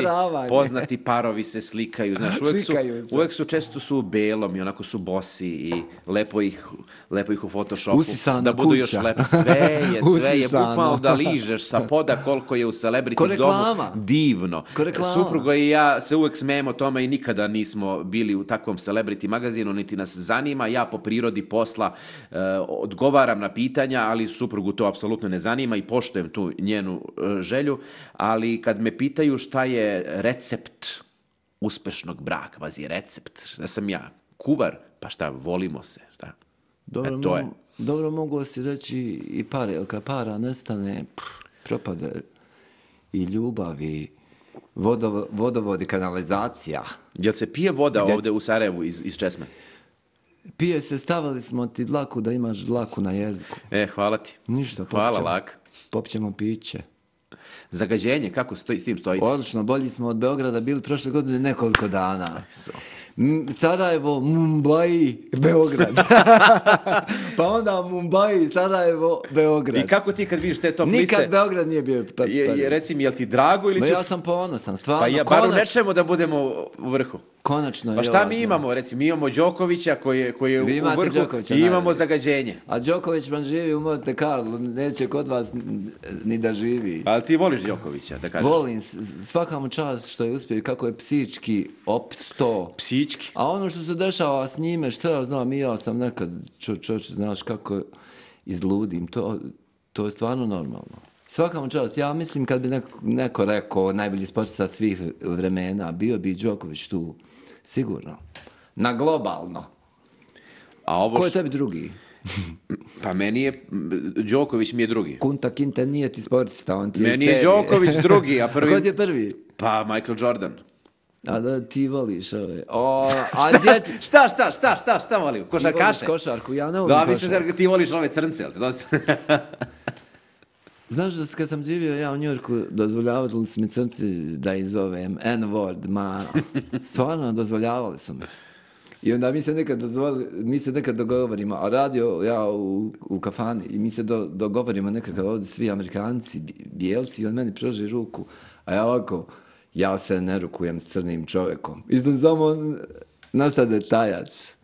poznati parovi se slikaju. Znaš, uvijek su, uvijek su, često su u belom i onako su bosi i lepo ih, lepo ih u Photoshopu. Usisana da budu kuća. Još lepo. Sve je, sve je. Bukvalno da ližeš sa poda koliko je u celebrity domu. Divno. Supruga i ja se uvijek smijemo tome i nikada nismo bili u takvom celebrity magazinu, niti nas zanima. Ja po prirodi posla e, odgovaram na pitanja, ali suprugu to apsolutno ne zanima i poštujem tu njenu e, želju, ali kad me pitaju šta je recept uspešnog braka, vazi recept, šta sam ja, kuvar, pa šta, volimo se, šta? Dobro, e, to je. Dobro mogu si reći i pare, jer kad para nestane, pff, propade i ljubav i vodov, vodovod i kanalizacija. Jel se pije voda Gdje... ovdje u Sarajevu iz, iz česme? Pije se, stavili smo ti dlaku da imaš dlaku na jeziku. E, hvala ti. Ništa, hvala, Lak. Popćemo piće. Zagađenje, kako stoji, s tim stojite? Odlično, bolji smo od Beograda bili prošle godine nekoliko dana. M- Sarajevo, Mumbai, Beograd. Pa onda Mumbai, Sarajevo, Beograd. I kako ti kad vidiš te top Nikad liste? Nikad Beograd nije bio... Pa, je, je, reci mi, jel ti drago ili Ma si... ja sam ponosan, stvarno. Pa ja, bar u nečemu da budemo u vrhu. Konačno. Pa šta mi imamo, recimo, mi imamo Đokovića koji je, koji je u vrhu Đokovića, i imamo najbolje. Zagađenje. A Đoković vam živi u Monte Carlo, neće kod vas ni da živi. Ali ti voliš Đokovića, da kažeš? Volim, svaka mu čast što je uspio i kako je psički opsto. Psički? A ono što se dešava s njime, što ja znam, i ja sam nekad, čo, čoče, znaš kako izludim, to, to je stvarno normalno. Svaka mu čast, ja mislim kad bi neko, neko rekao najbolji sportista svih vremena, bio bi Đoković tu, sigurno. Na globalno. A ovo Ko je š... tebi drugi? Pa meni je, Đoković mi je drugi. Kunta Kinte nije ti sportista, on ti je Meni je Đoković drugi, a prvi... A ko ti je prvi? Pa Michael Jordan. A da ti voliš ove. O, a šta, djet... šta, šta, šta, šta, šta volim? Košarkaše? Ti voliš košarku, ja ne volim da, košarku. Da, mislim, ti voliš ove crnce, jel te dosta? Znaš da kad sam živio ja u Njujorku, dozvoljavali su mi crnci da izovem N-word, ma stvarno dozvoljavali su mi. I onda mi se nekad dozvoli, mi se nekad dogovorimo, a radio ja u, u kafani i mi se do, dogovorimo nekakav ovdje svi Amerikanci, bijelci, i on meni pruži ruku, a ja ovako, ja se ne rukujem s crnim čovjekom. Isto samo nastade tajac.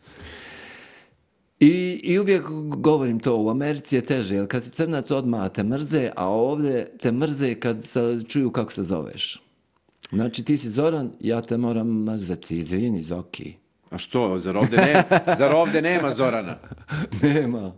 I, I uvijek govorim to, u Americi je teže, jer kad si crnac odmah te mrze, a ovdje te mrze kad se čuju kako se zoveš. Znači ti si Zoran, ja te moram mrzeti, izvini Zoki. A što, zar ovdje, ne, zar ovdje nema Zorana? Nema.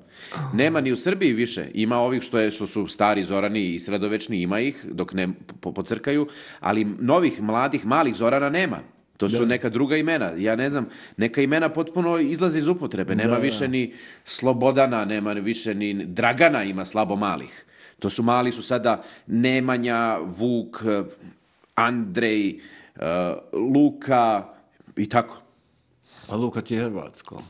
Nema ni u Srbiji više. Ima ovih što, je, što su stari Zorani i sredovečni, ima ih dok ne po, pocrkaju, ali novih, mladih, malih Zorana nema. To su da. Neka druga imena. Ja ne znam, neka imena potpuno izlaze iz upotrebe. Nema da, više ni Slobodana, nema više ni Dragana, ima slabo malih. To su mali su sada Nemanja, Vuk, Andrej, uh, Luka i tako. A Luka ti je hrvatsko?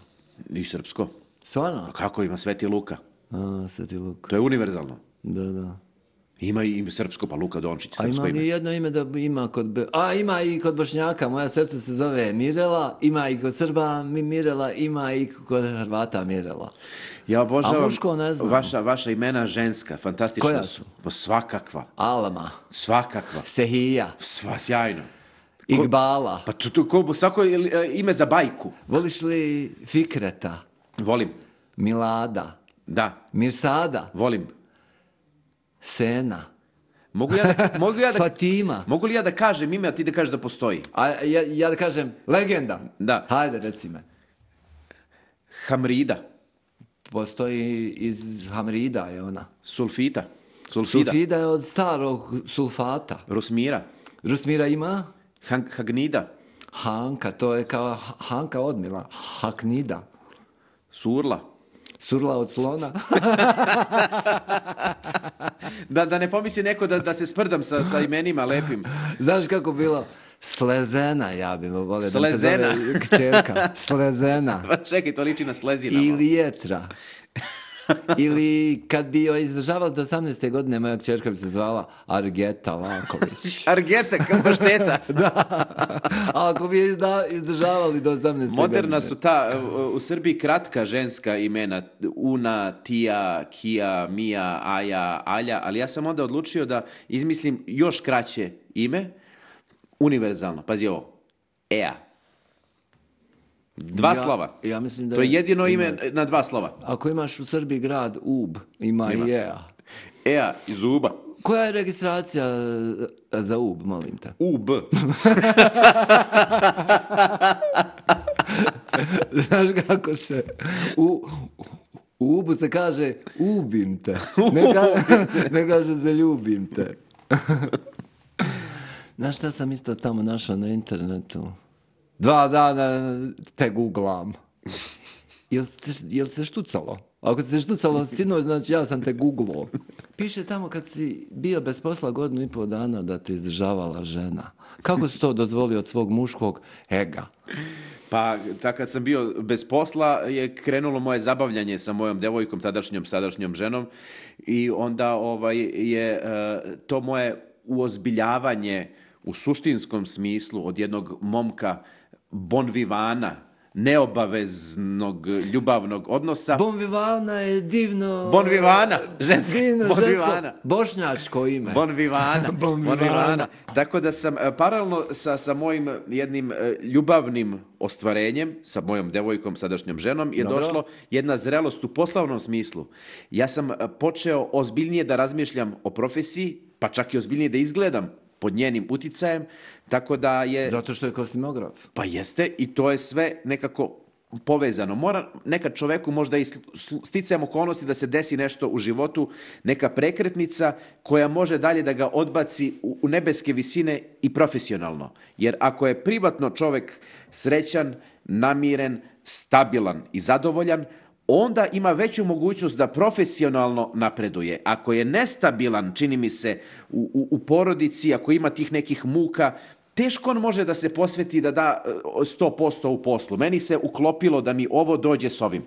I srpsko. Stvarno? A kako ima Sveti Luka? A, Sveti Luka. To je univerzalno. Da, da. Ima i srpsko, pa Luka Dončić, srpsko ime. A ima li jedno ime da ima kod... A, ima i kod Bošnjaka, moja srce se zove Mirela, ima i kod Srba Mirela, ima i kod Hrvata Mirela. Ja obožavam, a muško ne znam. Vaša, vaša imena ženska, fantastična koja su. Pa svakakva. Alma. Svakakva. Sehija. Sva, sjajno. Igbala. Pa tu, tu, ko, svako ime za bajku. Voliš li Fikreta? Volim. Milada? Da. Mirsada? Volim. Sena? Mogu ja da, mogu ja da, Fatima? Mogu li ja da kažem ime, a ti da kažeš da postoji? A ja, ja da kažem legenda? Da. Hajde, reci me. Hamrida. Postoji iz Hamrida je ona. Sulfita. Sulfida. Sulfida je od starog sulfata. Rusmira. Rusmira ima? Han, Hagnida. Hanka, to je kao Hanka odmila. Haknida. Surla. Surla od slona. da, da ne pomisli neko da, da se sprdam sa, sa imenima lepim. Znaš kako bilo? Slezena, ja bih volio. Slezena. Da se zove kćerka. Slezena. Pa čekaj, to liči na Slezinama. Ili Jetra. Ili kad bi joj izdržavali do osamnaeste godine, moja kćerka bi se zvala Argeta Laković. Argeta, kao pašteta. Da. A ako bi je izdržavali do osamnaeste godine. Moderna su ta, u Srbiji kratka ženska imena. Una, Tija, Kija, Mija, Aja, Alja. Ali ja sam onda odlučio da izmislim još kraće ime. Univerzalno. Pazi ovo. Ea. Dva ja, slova. Ja mislim da to je jedino ima, ime na dva slova. Ako imaš u Srbiji grad Ub, ima, ima. i Ea. Ea iz Uba. Koja je registracija za Ub, molim te? U B. Znaš kako se... U, u Ubu se kaže ubim te. Ne kaže, ne kaže se ljubim te. Znaš šta sam isto tamo našao na internetu? Dva dana te googlam. Jel, jel se štucalo? Ako se štucalo sinoć, znači ja sam te googlao. Piše tamo kad si bio bez posla godinu i pol dana da te izdržavala žena. Kako si to dozvolio od svog muškog ega? Pa, tako kad sam bio bez posla je krenulo moje zabavljanje sa mojom devojkom, tadašnjom, sadašnjom ženom i onda ovaj, je uh, to moje uozbiljavanje u suštinskom smislu od jednog momka bon vivana, neobaveznog ljubavnog odnosa. Bon vivana je divno... Bon vivana, žensko, divno, bon žensko, vivana. bošnjačko ime. Bon vivana, bon bon vivana. vivana. Tako da sam e, paralelno sa, sa mojim jednim e, ljubavnim ostvarenjem, sa mojom devojkom, sadašnjom ženom, je Dobro. došlo jedna zrelost u poslovnom smislu. Ja sam e, počeo ozbiljnije da razmišljam o profesiji, pa čak i ozbiljnije da izgledam pod njenim uticajem, tako da je... Zato što je kostimograf. Pa jeste, i to je sve nekako povezano. Mora nekad čoveku možda i sticajem okolnosti da se desi nešto u životu, neka prekretnica koja može dalje da ga odbaci u, u nebeske visine i profesionalno. Jer ako je privatno čovek srećan, namiren, stabilan i zadovoljan, onda ima veću mogućnost da profesionalno napreduje. Ako je nestabilan, čini mi se, u, u, u porodici, ako ima tih nekih muka, teško on može da se posveti da da sto posto u poslu. Meni se uklopilo da mi ovo dođe s ovim.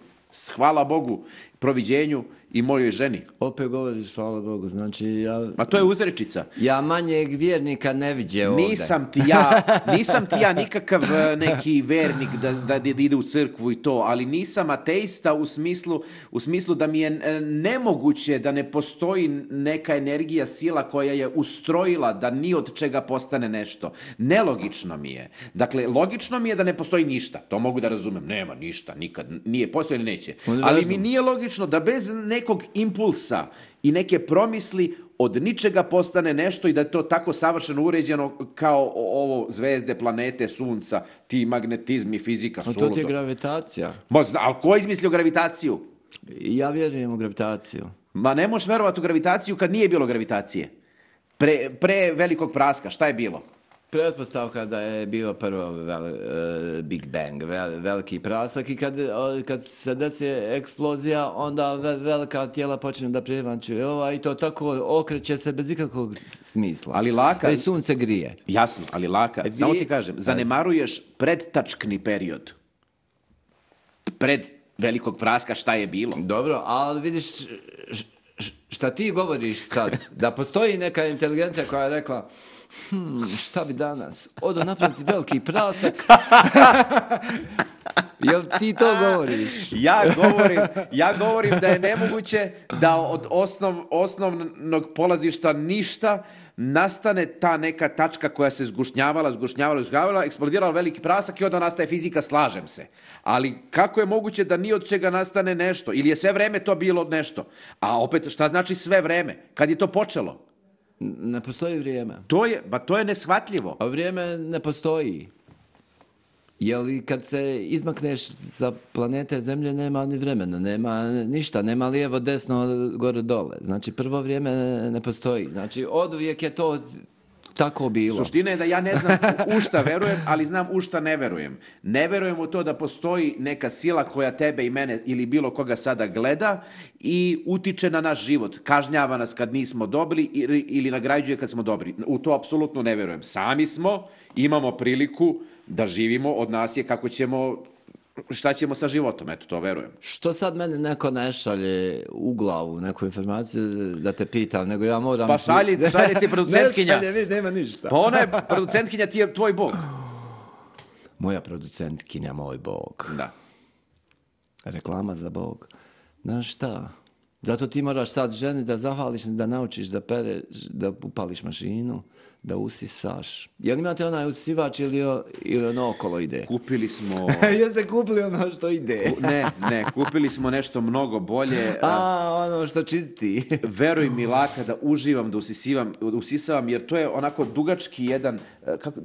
Hvala Bogu, proviđenju i mojoj ženi. Opet govoriš, hvala Bogu, znači ja... Ma to je uzrečica. Ja manjeg vjernika ne viđe ovdje. Nisam ti ja, nisam ti ja nikakav neki vernik da, da, da ide u crkvu i to, ali nisam ateista u smislu, u smislu da mi je nemoguće da ne postoji neka energija, sila koja je ustrojila da ni od čega postane nešto. Nelogično mi je. Dakle, logično mi je da ne postoji ništa. To mogu da razumem. Nema ništa, nikad. Nije postoji ili neće. Ali mi nije logično da bez nekog impulsa i neke promisli od ničega postane nešto i da je to tako savršeno uređeno kao ovo zvezde, planete, sunca, ti magnetizmi, fizika, A suludo. to ti je gravitacija. Ma zna, ali ko je izmislio gravitaciju? Ja vjerujem u gravitaciju. Ma ne možeš verovati u gravitaciju kad nije bilo gravitacije. Pre, pre velikog praska, šta je bilo? Pretpostavka da je bilo prvo vel, uh, Big Bang, vel, veliki prasak i kad, uh, kad se desi eksplozija, onda ve, velika tijela počne da prijevančuju ova i to tako okreće se bez ikakvog smisla. Ali laka... Već sunce grije. Jasno, ali laka. E, vi- Samo ti kažem, zanemaruješ predtačkni period. Pred velikog praska šta je bilo? Dobro, ali vidiš š- š- šta ti govoriš sad, da postoji neka inteligencija koja je rekla hmm, šta bi danas, odo napraviti veliki prasak. Jel ti to govoriš? Ja govorim, ja govorim da je nemoguće da od osnov, osnovnog polazišta ništa nastane ta neka tačka koja se zgušnjavala, zgušnjavala, zgušnjavala, eksplodirala veliki prasak i onda nastaje fizika, slažem se. Ali kako je moguće da ni od čega nastane nešto? Ili je sve vreme to bilo nešto? A opet, šta znači sve vreme? Kad je to počelo? Ne postoji vrijeme. To je, ba to je neshvatljivo. A vrijeme ne postoji. Jel i kad se izmakneš sa planete Zemlje nema ni vremena, nema ništa, nema lijevo, desno, gore, dole. Znači prvo vrijeme ne postoji. Znači oduvijek je to tako bilo. Suština je da ja ne znam u šta verujem, ali znam u šta ne verujem. Ne verujem u to da postoji neka sila koja tebe i mene ili bilo koga sada gleda i utiče na naš život. Kažnjava nas kad nismo dobri ili, ili nagrađuje kad smo dobri. U to apsolutno ne verujem. Sami smo, imamo priliku da živimo, od nas je kako ćemo, šta ćemo sa životom, eto to verujem. Što sad meni neko ne šalje u glavu neku informaciju da te pitam, nego ja moram... Pa šalji, šalje ti producentkinja. Ne šalje, vidi, nema ništa. Pa ona je producentkinja, ti je tvoj bog. Moja producentkinja, moj bog. Da. Reklama za bog. Znaš šta? Zato ti moraš sad ženi da zahvališ, da naučiš da pereš, da upališ mašinu, da usisaš. Jel imate onaj usisivač ili, ili ono okolo ide? Kupili smo... Jeste kupili ono što ide? Ne, ne, kupili smo nešto mnogo bolje. A, ono što čisti. Veruj mi, Laka, da uživam, da usisivam, da usisavam, jer to je onako dugački jedan, kako,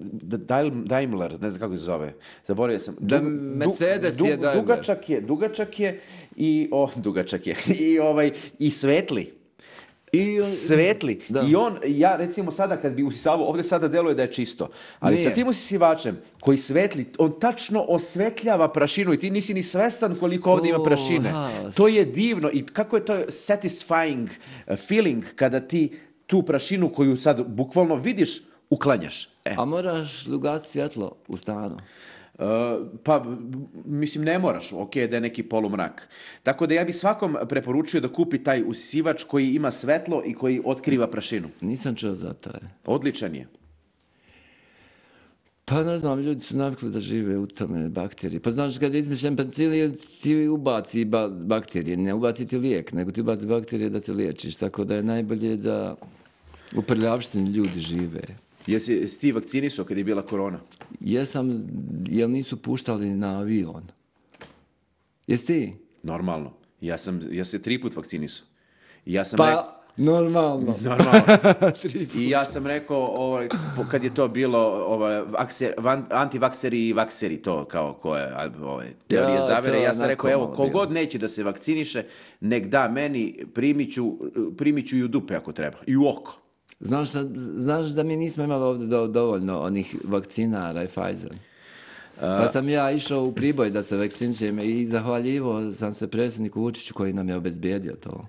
Daimler, ne znam kako se zove, zaboravio sam. Da, Mercedes du, je du, Daimler. Dugačak je, dugačak je i, o, dugačak je, i ovaj, i svetli. I on, svetli. Da. I on, ja recimo sada kad bi usisavao, ovdje sada deluje da je čisto, ali Nije. sa tim usisivačem koji svetli, on tačno osvetljava prašinu i ti nisi ni svestan koliko ovdje ima prašine. Aha. To je divno i kako je to satisfying feeling kada ti tu prašinu koju sad bukvalno vidiš, uklanjaš. E. A moraš ugasiti svjetlo u stanu. Uh, pa, mislim, ne moraš, ok, da je neki polumrak. Tako da ja bi svakom preporučio da kupi taj usisivač koji ima svetlo i koji otkriva prašinu. Nisam čuo za taj. Odličan je. Pa ne znam, ljudi su navikli da žive u tome bakterije. Pa znaš, kada je izmišljen penicilin, ti ubaci ba- bakterije, ne ubaci ti lijek, nego ti ubaci bakterije da se liječiš. Tako da je najbolje da u prljavštini ljudi žive. Jesi, jesi ti vakcinisao kad je bila korona? Jesam, jel nisu puštali na avion? Jesi ti? Normalno. Ja sam, ja se tri put vakcinisao. Ja sam Pa, rekao... normalno. Normalno. I ja sam rekao, ovaj, kad je to bilo ovaj, vakser, van, antivakseri i vakseri, to kao koje ovaj, teorije Ja, zavere, to ja sam onako rekao, evo, malo kogod bilo. neće da se vakciniše, nek da meni, primiću, primiću i u dupe ako treba, i u oko. Znaš, šta- znaš da mi nismo imali ovdje do- dovoljno onih vakcinara i Pfizer? Pa sam ja išao u Priboj da se vakcinišem i zahvaljivo sam se predsjedniku Vučiću koji nam je obezbijedio to.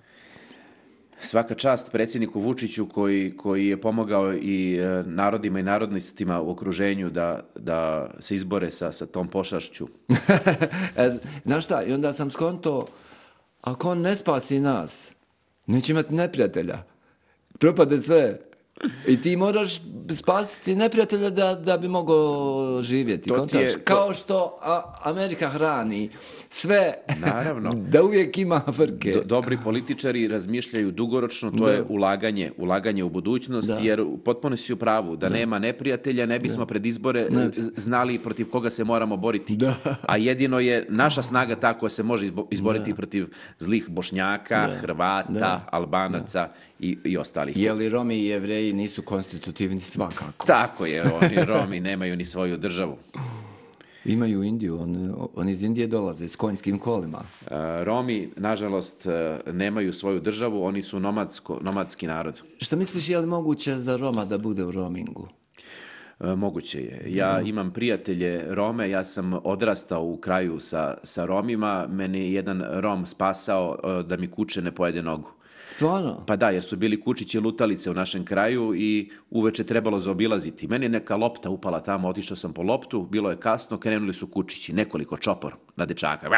Svaka čast predsjedniku Vučiću koji, koji je pomogao i e, narodima i narodnostima u okruženju da, da se izbore sa, sa tom pošašću. E, znaš šta, i onda sam skonto, ako on ne spasi nas, neće imati neprijatelja. Propade sve. I ti moraš spasiti neprijatelja da, da bi mogao živjeti. To ti kontaš? je- to- Kao što a, Amerika hrani sve, Naravno. da uvijek ima frke. Do- dobri političari razmišljaju dugoročno, to Da. je ulaganje, ulaganje u budućnost, Da. jer potpuno si u pravu, da, nema neprijatelja, ne bismo pred izbore z- znali protiv koga se moramo boriti. Da. A jedino je naša snaga ta koja se može izbo- izboriti protiv zlih Bošnjaka, Da. Hrvata, Da. Albanaca i, i ostalih. Je li Romi i Jevreji nisu konstitutivni svakako? Tako je, oni Romi nemaju ni svoju državu. Imaju Indiju, on, on iz Indije dolaze s konjskim kolima. Uh, Romi, nažalost, uh, nemaju svoju državu, oni su nomadsko, nomadski narod. Šta misliš, je li moguće za Roma da bude u roamingu? Uh, moguće je. Ja imam prijatelje Rome, ja sam odrastao u kraju sa, sa Romima, meni je jedan Rom spasao uh, da mi kuće ne pojede nogu. Stvarno? Pa da, jer su bili kučići lutalice u našem kraju i uveče trebalo zaobilaziti. Meni je neka lopta upala tamo, otišao sam po loptu, bilo je kasno, krenuli su kučići, nekoliko čopor na dečaka,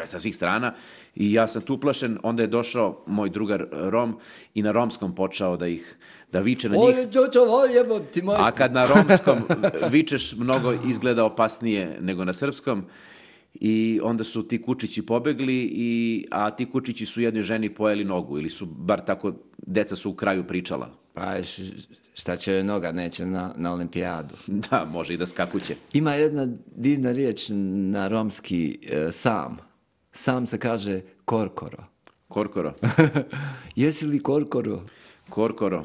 sa svih strana i ja sam tu uplašen, onda je došao moj drugar Rom i na romskom počeo da ih, da viče na njih. Oj, to, to, oj, jebo ti moj. A kad na romskom vičeš, mnogo izgleda opasnije nego na srpskom. I onda su ti kučići pobegli, i, a ti kučići su jednoj ženi pojeli nogu, ili su, bar tako, deca su u kraju pričala. Pa š- šta će joj noga, neće na, na olimpijadu. Da, može i da skakuće. Ima jedna divna riječ na romski, e, sam. Sam se kaže korkoro. Korkoro. Jesi li korkoro? Korkoro.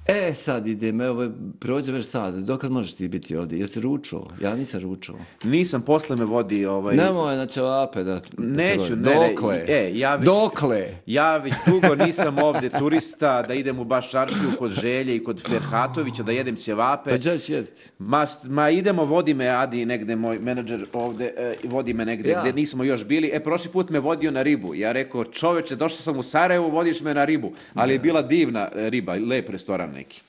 E, sad idem, evo, prođe već sad. Dokad možeš ti biti ovdje? Jesi ručao? Ja nisam ručao. Nisam, posle me vodi ovaj... Nemoj na ćevape da... Neću, ne, ne, Dokle? e, ja već- Dokle? Ja već dugo nisam ovdje turista, da idem u baš čaršiju kod Želje i kod Ferhatovića, da jedem ćevape. Pa ćeš jesti. Ma, ma idemo, vodi me Adi negde, moj menadžer ovde, e, vodi me negde Ja. gde nismo još bili. E, prošli put me vodio na ribu. Ja rekao, čoveče, došao sam u Sarajevo, vodiš me na ribu. Ali je bila divna e, riba, lep restoran neki.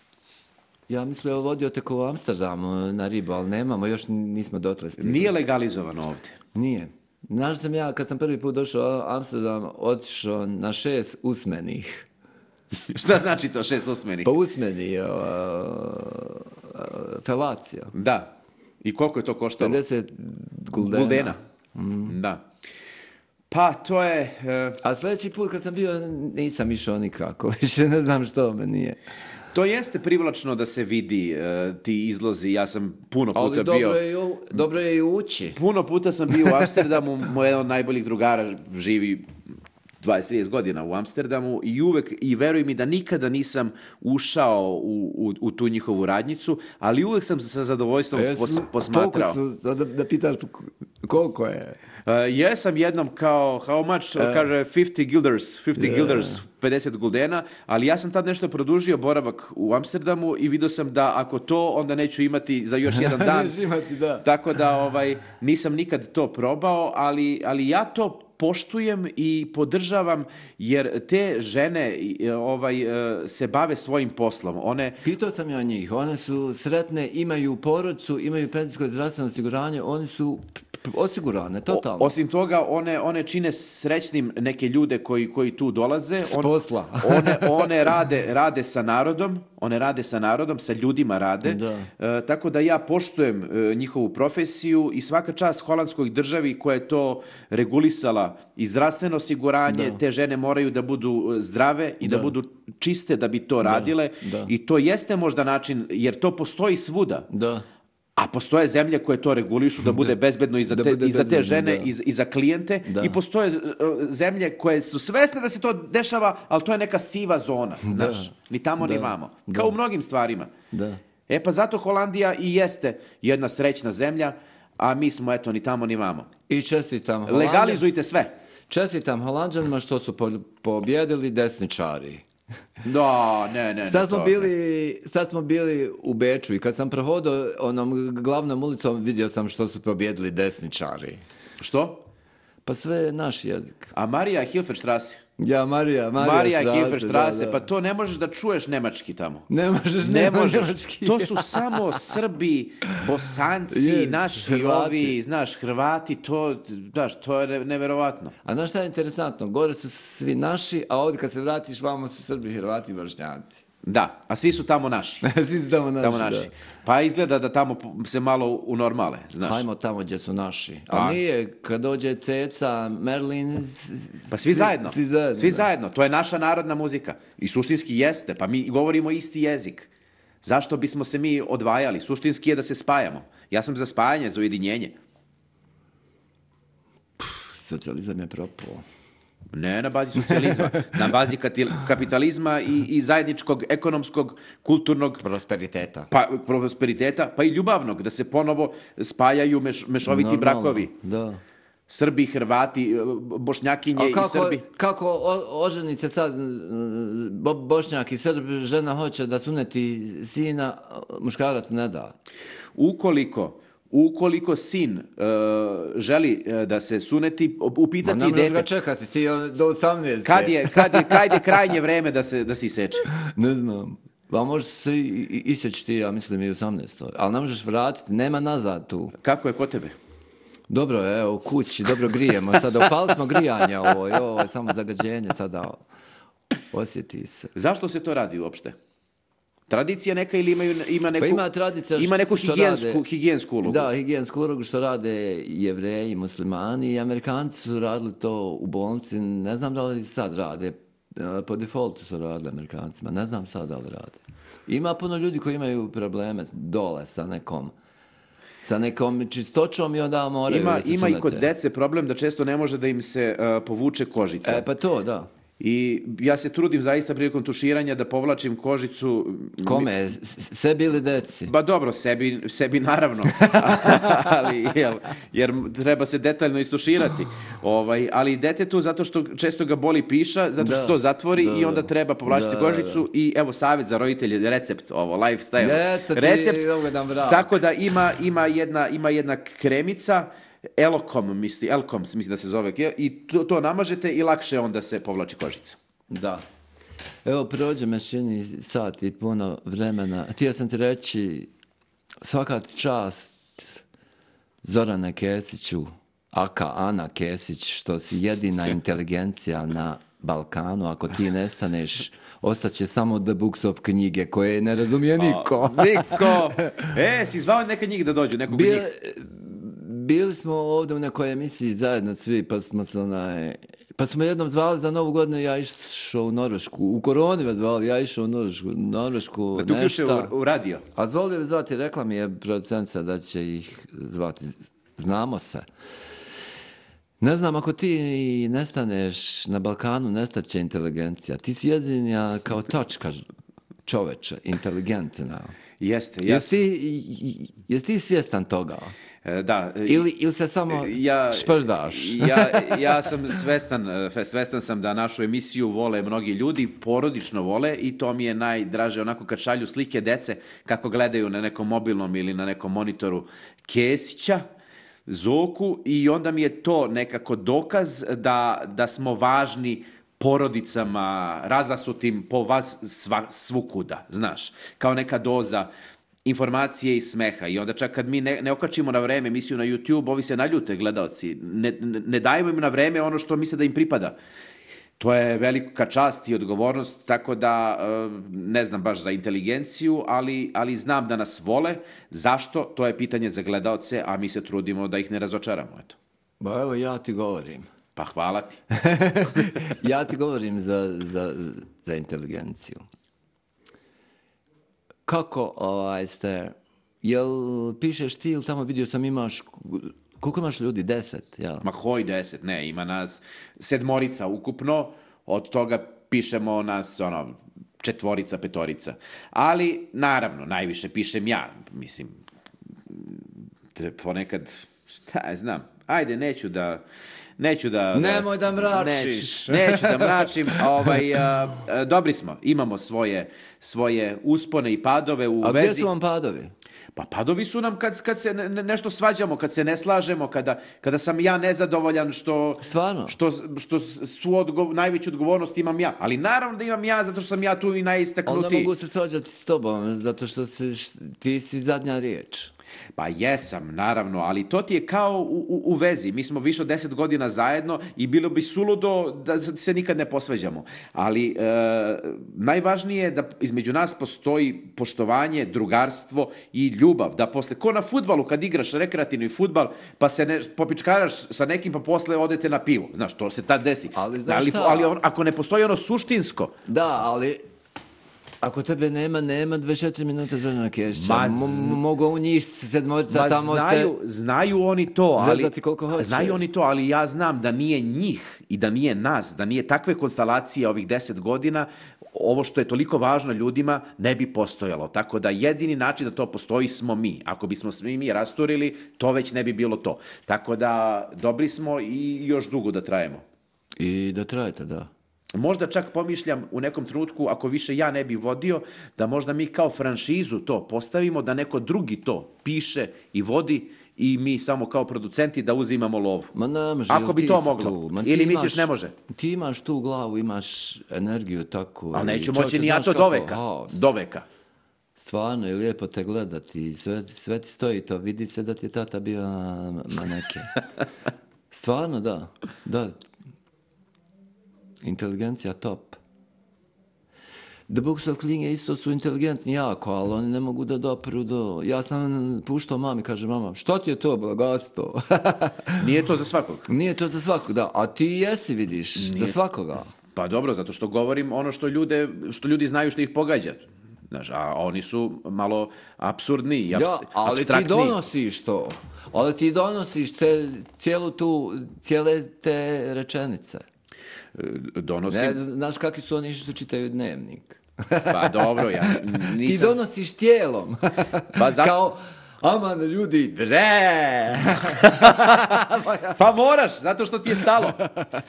Ja mislio vodio tek u Amsterdamu na ribu, ali nemamo, još nismo dotle stigli. Nije legalizovano ovde. Nije. Znaš sam ja, kad sam prvi put došao u Amsterdam, otišao na šest usmenih. Šta znači to šest osmenih? Pa usmeni, uh, uh, felacija. Da. I koliko je to koštalo? pedeset guldena. Guldena. Da. Pa, to je... e, A sljedeći put kad sam bio, nisam išao nikako. Više ne znam što me nije. to jeste privlačno da se vidi e, ti izlozi. Ja sam puno puta Ali bio... dobro je, i u- dobro je i ući. Puno puta sam bio u Amsterdamu, moj jedan od najboljih drugara živi dvadeset trideset godina u Amsterdamu i uvek, i veruj mi da nikada nisam ušao u, u, u tu njihovu radnjicu, ali uvek sam sa zadovoljstvom A jesu pos, posmatrao. pokucu, da, da pitaš koliko je. Uh, jesam jednom kao, how much, kaže fifty guilders, fifty Yeah. guilders, pedeset guldena, ali ja sam tad nešto produžio boravak u Amsterdamu i vidio sam da ako to, onda neću imati za još jedan dan. Nećeš imati, da. Tako da ovaj, nisam nikad to probao, ali, ali ja to poštujem i podržavam, jer te žene ovaj, se bave svojim poslom. One... Pitao sam ja njih, one su sretne, imaju porodicu, imaju penzijsko i zdravstveno osiguranje, oni su osigurane, totalno. O, osim toga, one, one čine srećnim neke ljude koji, koji tu dolaze. S posla. one one rade, rade sa narodom, one rade sa narodom, sa ljudima rade. Da. E, tako da ja poštujem e, njihovu profesiju i svaka čast holandskoj državi koja je to regulisala i zdravstveno osiguranje, Da. te žene moraju da budu zdrave i da, Da. budu čiste da bi to radile. Da. I to jeste možda način, jer to postoji svuda. Da. A postoje zemlje koje to regulišu da bude bezbedno i za Da te, bude i za te bezbedno, žene da. i, i za klijente. Da. I postoje uh, zemlje koje su svesne da se to dešava, ali to je neka siva zona, znaš. Ni tamo ni Da. vamo. Da. Kao u mnogim stvarima. Da. E pa zato Holandija i jeste jedna srećna zemlja, a mi smo eto ni tamo ni vamo. I čestitam Holandija. Legalizujte sve. Čestitam Holanđanima što su po- pobjedili desničari. Da, ne, ne, ne. Sad smo, to- bili, sad smo bili u Beču i kad sam prohodao onom glavnom ulicom vidio sam što su pobjedili desničari. Što? Pa sve je naš jezik. A Marija Hilferstrasse. Ja, Marija, Marija, Marija Strasse, Hilferstrasse, da, da. pa to ne možeš da čuješ nemački tamo. Ne možeš, Ne nema možeš. njemački. To su samo Srbi, Bosanci, Je, naši Hrvati. ovi, znaš, Hrvati, to, znaš, to je ne- neverovatno. A znaš šta je interesantno? Gore su svi naši, a ovdje kad se vratiš, vamo su Srbi, Hrvati i Bošnjaci. Da, a svi su tamo naši. Svi su tamo naši, Tamo naši. da. Pa izgleda da tamo se malo unormale, znaš. Hajmo tamo gdje su naši. Pa. A nije, kad dođe Ceca, Merlin... s- s- Pa svi zajedno. Svi zajedno. Svi da. zajedno. To je naša narodna muzika. I suštinski jeste. Pa mi govorimo isti jezik. Zašto bismo se mi odvajali? Suštinski je da se spajamo. Ja sam za spajanje, za ujedinjenje. Socijalizam je propao. Ne na bazi socijalizma, na bazi katil- kapitalizma i, i zajedničkog ekonomskog, kulturnog Prosperiteta. pa, prosperiteta, pa i ljubavnog, da se ponovo spajaju meš, mešoviti Normalno, brakovi. Da. Srbi, Hrvati, Bošnjakinje A i kako, Srbi. kako o- oženi se sad mm, bo, Bošnjak i Srb, žena hoće da suneti sina, muškarac ne da. Ukoliko Ukoliko sin uh, želi uh, da se suneti, Ma upitati ne možeš ga dete, čekati, ti je do osamnaeste. kad je, kad je, kad je krajnje vreme da se, da se iseče. Ne znam. Pa možeš se i- i- iseći ti, ja mislim, i u osamnaestoj. Ali ne možeš vratiti, nema nazad tu. Kako je kod tebe? Dobro je, evo, u kući, dobro grijemo. Sada upali smo grijanje ovo, i ovo je samo zagađenje, sada osjeti se. Zašto se to radi uopšte? Tradicija neka ili imaju, ima neku, Pa ima tradicija ima neku što higijensku, rade- higijensku ulogu? Da, higijensku ulogu što rade Jevreji, muslimani i Amerikanci su radili to u bolnici, ne znam da li sad rade, e, po defaultu su radili Amerikancima, ne znam sad da li rade. Ima puno ljudi koji imaju probleme dole sa nekom, sa nekom čistoćom i onda moraju Ima, da se ima i kod sunete. dece problem da često ne može da im se uh, povuče kožica. E, pa to, da. I ja se trudim zaista prilikom tuširanja da povlačim kožicu. Kome? S- Sebi ili deci? Ba dobro, sebi, sebi naravno, ali, jel, jer treba se detaljno istuširati. Ovaj, ali detetu zato što često ga boli piša, zato što Da, to zatvori da, i onda da. treba povlačiti Da, kožicu i evo savjet za roditelje, recept, ovo, lifestyle. Eto ti recept, ugodan brak. tako da ima, ima, jedna, ima jedna kremica, Elkom, misli, Elkom mislim da se zove, i to, to namažete i lakše onda se povlači kožica. Da. Evo, prođe me čini sat i puno vremena. Htio sam ti reći, svaka ti čast Zorane Kesiću, aka Ana Kesić, što si jedina inteligencija na Balkanu. Ako ti nestaneš, ostaće samo The Books of knjige koje ne razumije niko. Niko! E, si zvao neka njih da dođu, nekog Bil- njih? Bili smo ovdje u nekoj emisiji zajedno svi, pa smo se onaj... Pa smo jednom zvali za Novu godinu, ja išao u Norvešku. U koroni me zvali, ja išao u Norvešku, Norvešku Da te uključe nešta. u, u radio. A zvoli bi zvati, rekla mi je producentica da će ih zvati. Znamo se. Ne znam, ako ti nestaneš na Balkanu, nestaće inteligencija. Ti si jedinja kao tačka čoveče, inteligentna. Jeste, ja Jesi ti, jesi ti svjestan toga? E, Da. e, Ili, ili se samo ja, šprdaš? ja, ja sam svestan, e, svestan sam da našu emisiju vole mnogi ljudi, porodično vole i to mi je najdraže onako kad šalju slike dece kako gledaju na nekom mobilnom ili na nekom monitoru Kesića. Zoku i onda mi je to nekako dokaz da, da smo važni porodicama, razasutim po vas sva, svukuda, znaš, kao neka doza informacije i smeha. I onda čak kad mi ne, ne okačimo na vreme emisiju na YouTube, ovi se naljute gledaoci, ne, ne, ne dajemo im na vreme ono što misle da im pripada. To je velika čast i odgovornost, tako da ne znam baš za inteligenciju, ali, ali znam da nas vole. Zašto? To je pitanje za gledaoce, a mi se trudimo da ih ne razočaramo. Eto. Ba evo ja ti govorim. Pa hvala ti. Ja ti govorim za, za, za inteligenciju. Kako ovaj, ste, jel pišeš ti ili tamo vidio sam imaš, koliko imaš ljudi, deset? Jel? Ma hoj deset, ne, ima nas sedmorica ukupno, od toga pišemo nas ono, četvorica, petorica. Ali, naravno, najviše pišem ja, mislim, ponekad, šta ja znam, ajde, neću da... Neću da... Nemoj da mračiš. Neću, neću da mračim. Ovaj, a, a, dobri smo. Imamo svoje, svoje uspone i padove u a vezi. A gdje su vam padovi? Pa padovi su nam kad, kad se ne, nešto svađamo, kad se ne slažemo, kada, kada sam ja nezadovoljan što... Stvarno? Što, što su odgov, najveću odgovornost imam ja. Ali naravno da imam ja, zato što sam ja tu i najistaknutiji. Onda mogu se svađati s tobom, zato što si, ti si zadnja riječ. Pa jesam, naravno, ali to ti je kao u, u, u vezi. Mi smo više od deset godina zajedno i bilo bi suludo da se nikad ne posveđamo. Ali e, najvažnije je da između nas postoji poštovanje, drugarstvo i ljubav. Da posle, ko na fudbalu kad igraš rekreativni fudbal, pa se ne, popičkaraš sa nekim, pa posle odete na pivo. Znaš, to se tad desi. Ali, znaš ali, šta? ali on, ako ne postoji ono suštinsko... Da, ali... Ako tebe nema, nema dvadeset četiri minuta Zorana Kešića. Ma z... Mogu u njih sedmorica Ma tamo znaju, se... znaju oni to, ali... koliko hoće. Znaju oni to, ali ja znam da nije njih i da nije nas, da nije takve konstalacije ovih deset godina, ovo što je toliko važno ljudima ne bi postojalo. Tako da jedini način da to postoji smo mi. Ako bismo svi mi rasturili, to već ne bi bilo to. Tako da dobri smo i još dugo da trajemo. I da trajete, da. Možda čak pomišljam u nekom trenutku, ako više ja ne bi vodio, da možda mi kao franšizu to postavimo, da neko drugi to piše i vodi i mi samo kao producenti da uzimamo lovu. Ma ne može. Ako bi to moglo. Ili misliš ne može? Ti imaš tu glavu, imaš energiju tako. Ali neću moći ni ja to do veka. Do veka. Stvarno je lijepo te gledati. Sve, sve ti stoji to. Vidi se da ti je tata bio maneke. Stvarno, da. Da. Inteligencija top. The Books of Klinge isto su inteligentni jako, ali oni ne mogu da dopru do... Ja sam puštao mami, kaže mama, što ti je to bogatstvo? Nije to za svakog. Nije to za svakog, da. A ti jesi, vidiš, Nije. za svakoga. Pa dobro, zato što govorim ono što, ljude, što ljudi znaju što ih pogađa. Znaš, a oni su malo apsurdni i abs, ja, ali abstraktni. Ti donosiš to. Ali ti donosiš ce, cijelu tu, cijele te rečenice. Donosim... Ne, znaš kakvi su oni što čitaju dnevnik. Pa dobro, ja nisam... Ti donosiš tijelom. Pa za... Kao, aman ljudi, bre! Pa moraš, zato što ti je stalo.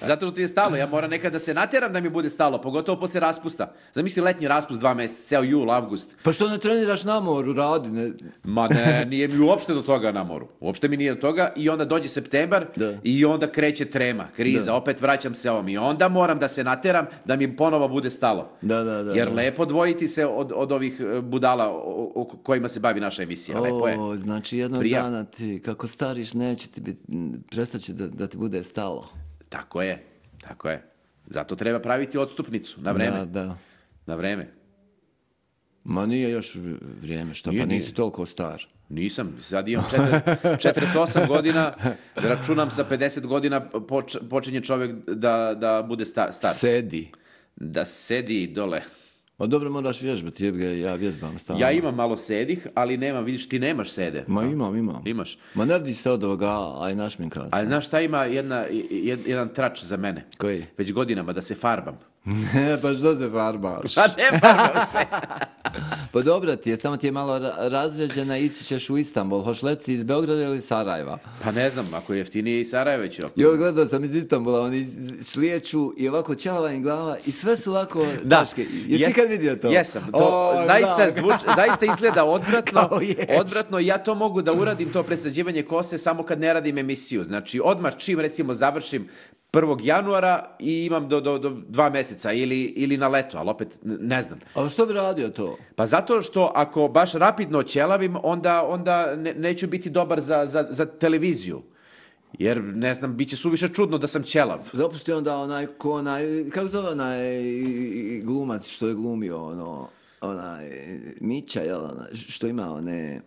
Zato što ti je stalo. Ja moram nekad da se natjeram da mi bude stalo, pogotovo posle raspusta. Zamisli letnji raspust dva mjeseca, ceo jul, avgust. Pa što ne treniraš na moru, radi? Ne... Ma ne, nije mi uopšte do toga na moru. Uopšte mi nije do toga i onda dođe septembar da. I onda kreće trema, kriza, da. Opet vraćam se ovom i onda moram da se natjeram da mi ponovo bude stalo. Da, da, da, Jer da. lepo dvojiti se od, od ovih budala o, o kojima se bavi naša emisija. O, lepo je. Znači jednog Prija. dana ti, kako stariš, neće ti biti, prestaće da, da ti bude stalo. Tako je, tako je. Zato treba praviti odstupnicu, na vreme. Da, da. Na vreme. Ma nije još vrijeme, što nije, pa nisi nije. Toliko star. Nisam, sad imam četrdeset osam godina, računam sa pedeset godina poč, počinje čovjek da, da bude sta, star. Sedi. Da sedi dole. O dobro, moraš vježbati, ja vježbam stalno. Ja imam malo sedih, ali nemam, vidiš, ti nemaš sede. Ma imam, imam. Imaš. Ma ne vidi se od ovoga, aj našminka se. Ali znaš šta ima jedna, jed, jedan trač za mene? Koji? Već godinama, da se farbam. Ne, pa što se farbaš? Pa ne farbam se. Pa dobro ti je, samo ti je malo ra- razređena, ići ćeš u Istanbul. Hoš letiti iz Beograda ili Sarajeva? Pa ne znam, ako je jeftinije i Sarajeva ću. Jo, gledao sam iz Istanbula, oni slijeću i ovako ćelava im glava i sve su ovako Da. taške. Jesi Jes- kad vidio to? Jesam. To O, zaista, da. zvuč, zaista izgleda odvratno. Kao ješ. Odvratno, ja to mogu da uradim, to presađivanje kose, samo kad ne radim emisiju. Znači, odmah čim, recimo, završim prvog januara i imam do, do, do dva meseca ili, ili na leto, ali opet n- ne znam. A što bi radio to? Pa zato što ako baš rapidno ćelavim, onda, onda ne, neću biti dobar za, za, za televiziju. Jer, ne znam, bit će suviše čudno da sam ćelav. Zapusti onda onaj, ko onaj, kako zove onaj glumac što je glumio, ono, onaj, Mića, jel, onaj, što ima one...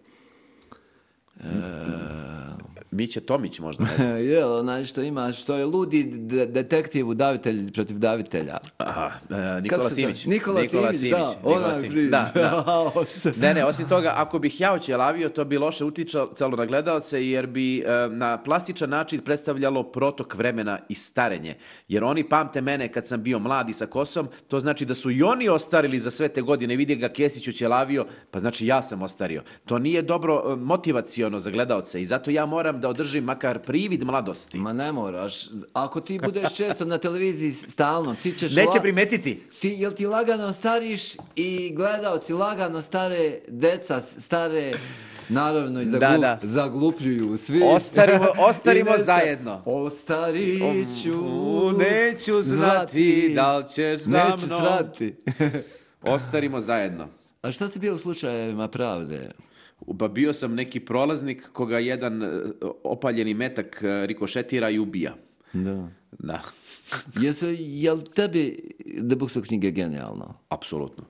Miće Tomić možda, ne znam. Jel, onaj što ima, što je ludi de- detektiv udavitelj protiv davitelja. Aha, e, Nikola Kako se zove? Simić. Nikola Simić, da, Nikola onaj Simić. priča. Da, da. Ne, ne, osim toga, ako bih ja oćelavio, to bi loše uticalo na gledalce, jer bi e, na plastičan način predstavljalo protok vremena i starenje. Jer oni pamte mene kad sam bio mlad i sa kosom, to znači da su i oni ostarili za sve te godine. Vidi ga Kesić oćelavio, pa znači ja sam ostario. To nije dobro e, motivaciono za gledalce i zato ja moram da održim makar privid mladosti. Ma ne moraš, ako ti budeš često na televiziji stalno, ti ćeš... Neće la- primetiti. Ti, jel ti lagano stariš i gledaoci lagano stare, deca stare, naravno i Da, zaglu, da. zaglupljuju svi. Ostarimo, ostarimo I ne zna- zajedno. Ostariću, U, neću znati da li ćeš za Neću mnom. strati. Ostarimo zajedno. A šta si bio u slučajevima pravde? Pa bio sam neki prolaznik koga jedan e, opaljeni metak e, rikošetira i ubija. Da. Da, Jesu, jel tebi Debuksa knjige genijalno? apsolutno.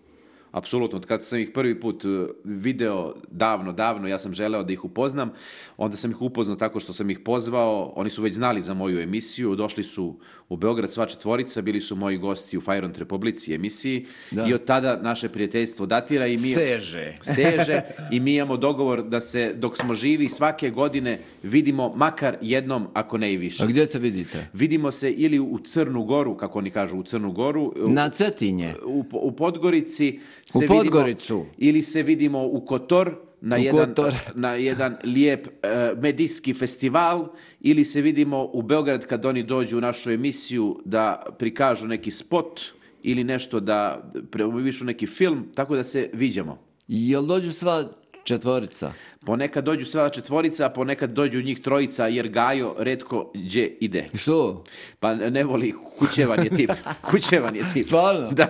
Apsolutno, od kad sam ih prvi put e, video davno, davno, ja sam želeo da ih upoznam, onda sam ih upoznao tako što sam ih pozvao, oni su već znali za moju emisiju, došli su u Beograd sva četvorica, bili su moji gosti u Fajront Republici emisiji Da. i od tada naše prijateljstvo datira i mi... Seže. seže i mi imamo dogovor da se dok smo živi svake godine vidimo makar jednom, ako ne i više. A gdje se vidite? Vidimo se ili u Crnu Goru, kako oni kažu, u Crnu Goru, u, Na Cetinje. u, u Podgorici se U vidimo, Podgoricu. ili se vidimo u Kotor na, U jedan, Kotor. na jedan lijep e, medijski festival, ili se vidimo u Beograd kad oni dođu u našu emisiju da prikažu neki spot ili nešto da promovišu neki film, tako da se viđamo. Jel dođu sva četvorica? Ponekad dođu sva četvorica, a ponekad dođu njih trojica, jer Gajo retko gdje ide. Što? Pa ne voli, kućevan je tip. Kućevan je tip. Stvarno? Da.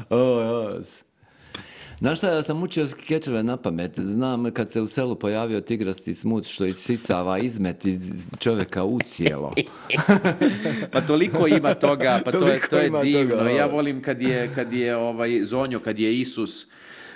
O, jas. Znaš šta, ja sam učio skečeve na pamet. Znam kad se u selu pojavio tigrasti smut što isisava izmet iz čovjeka u cijelo. Pa toliko ima toga, pa to je, Toliko to je ima divno. toga, Ja ovo. volim kad je, kad je ovaj Zonjo, kad je Isus.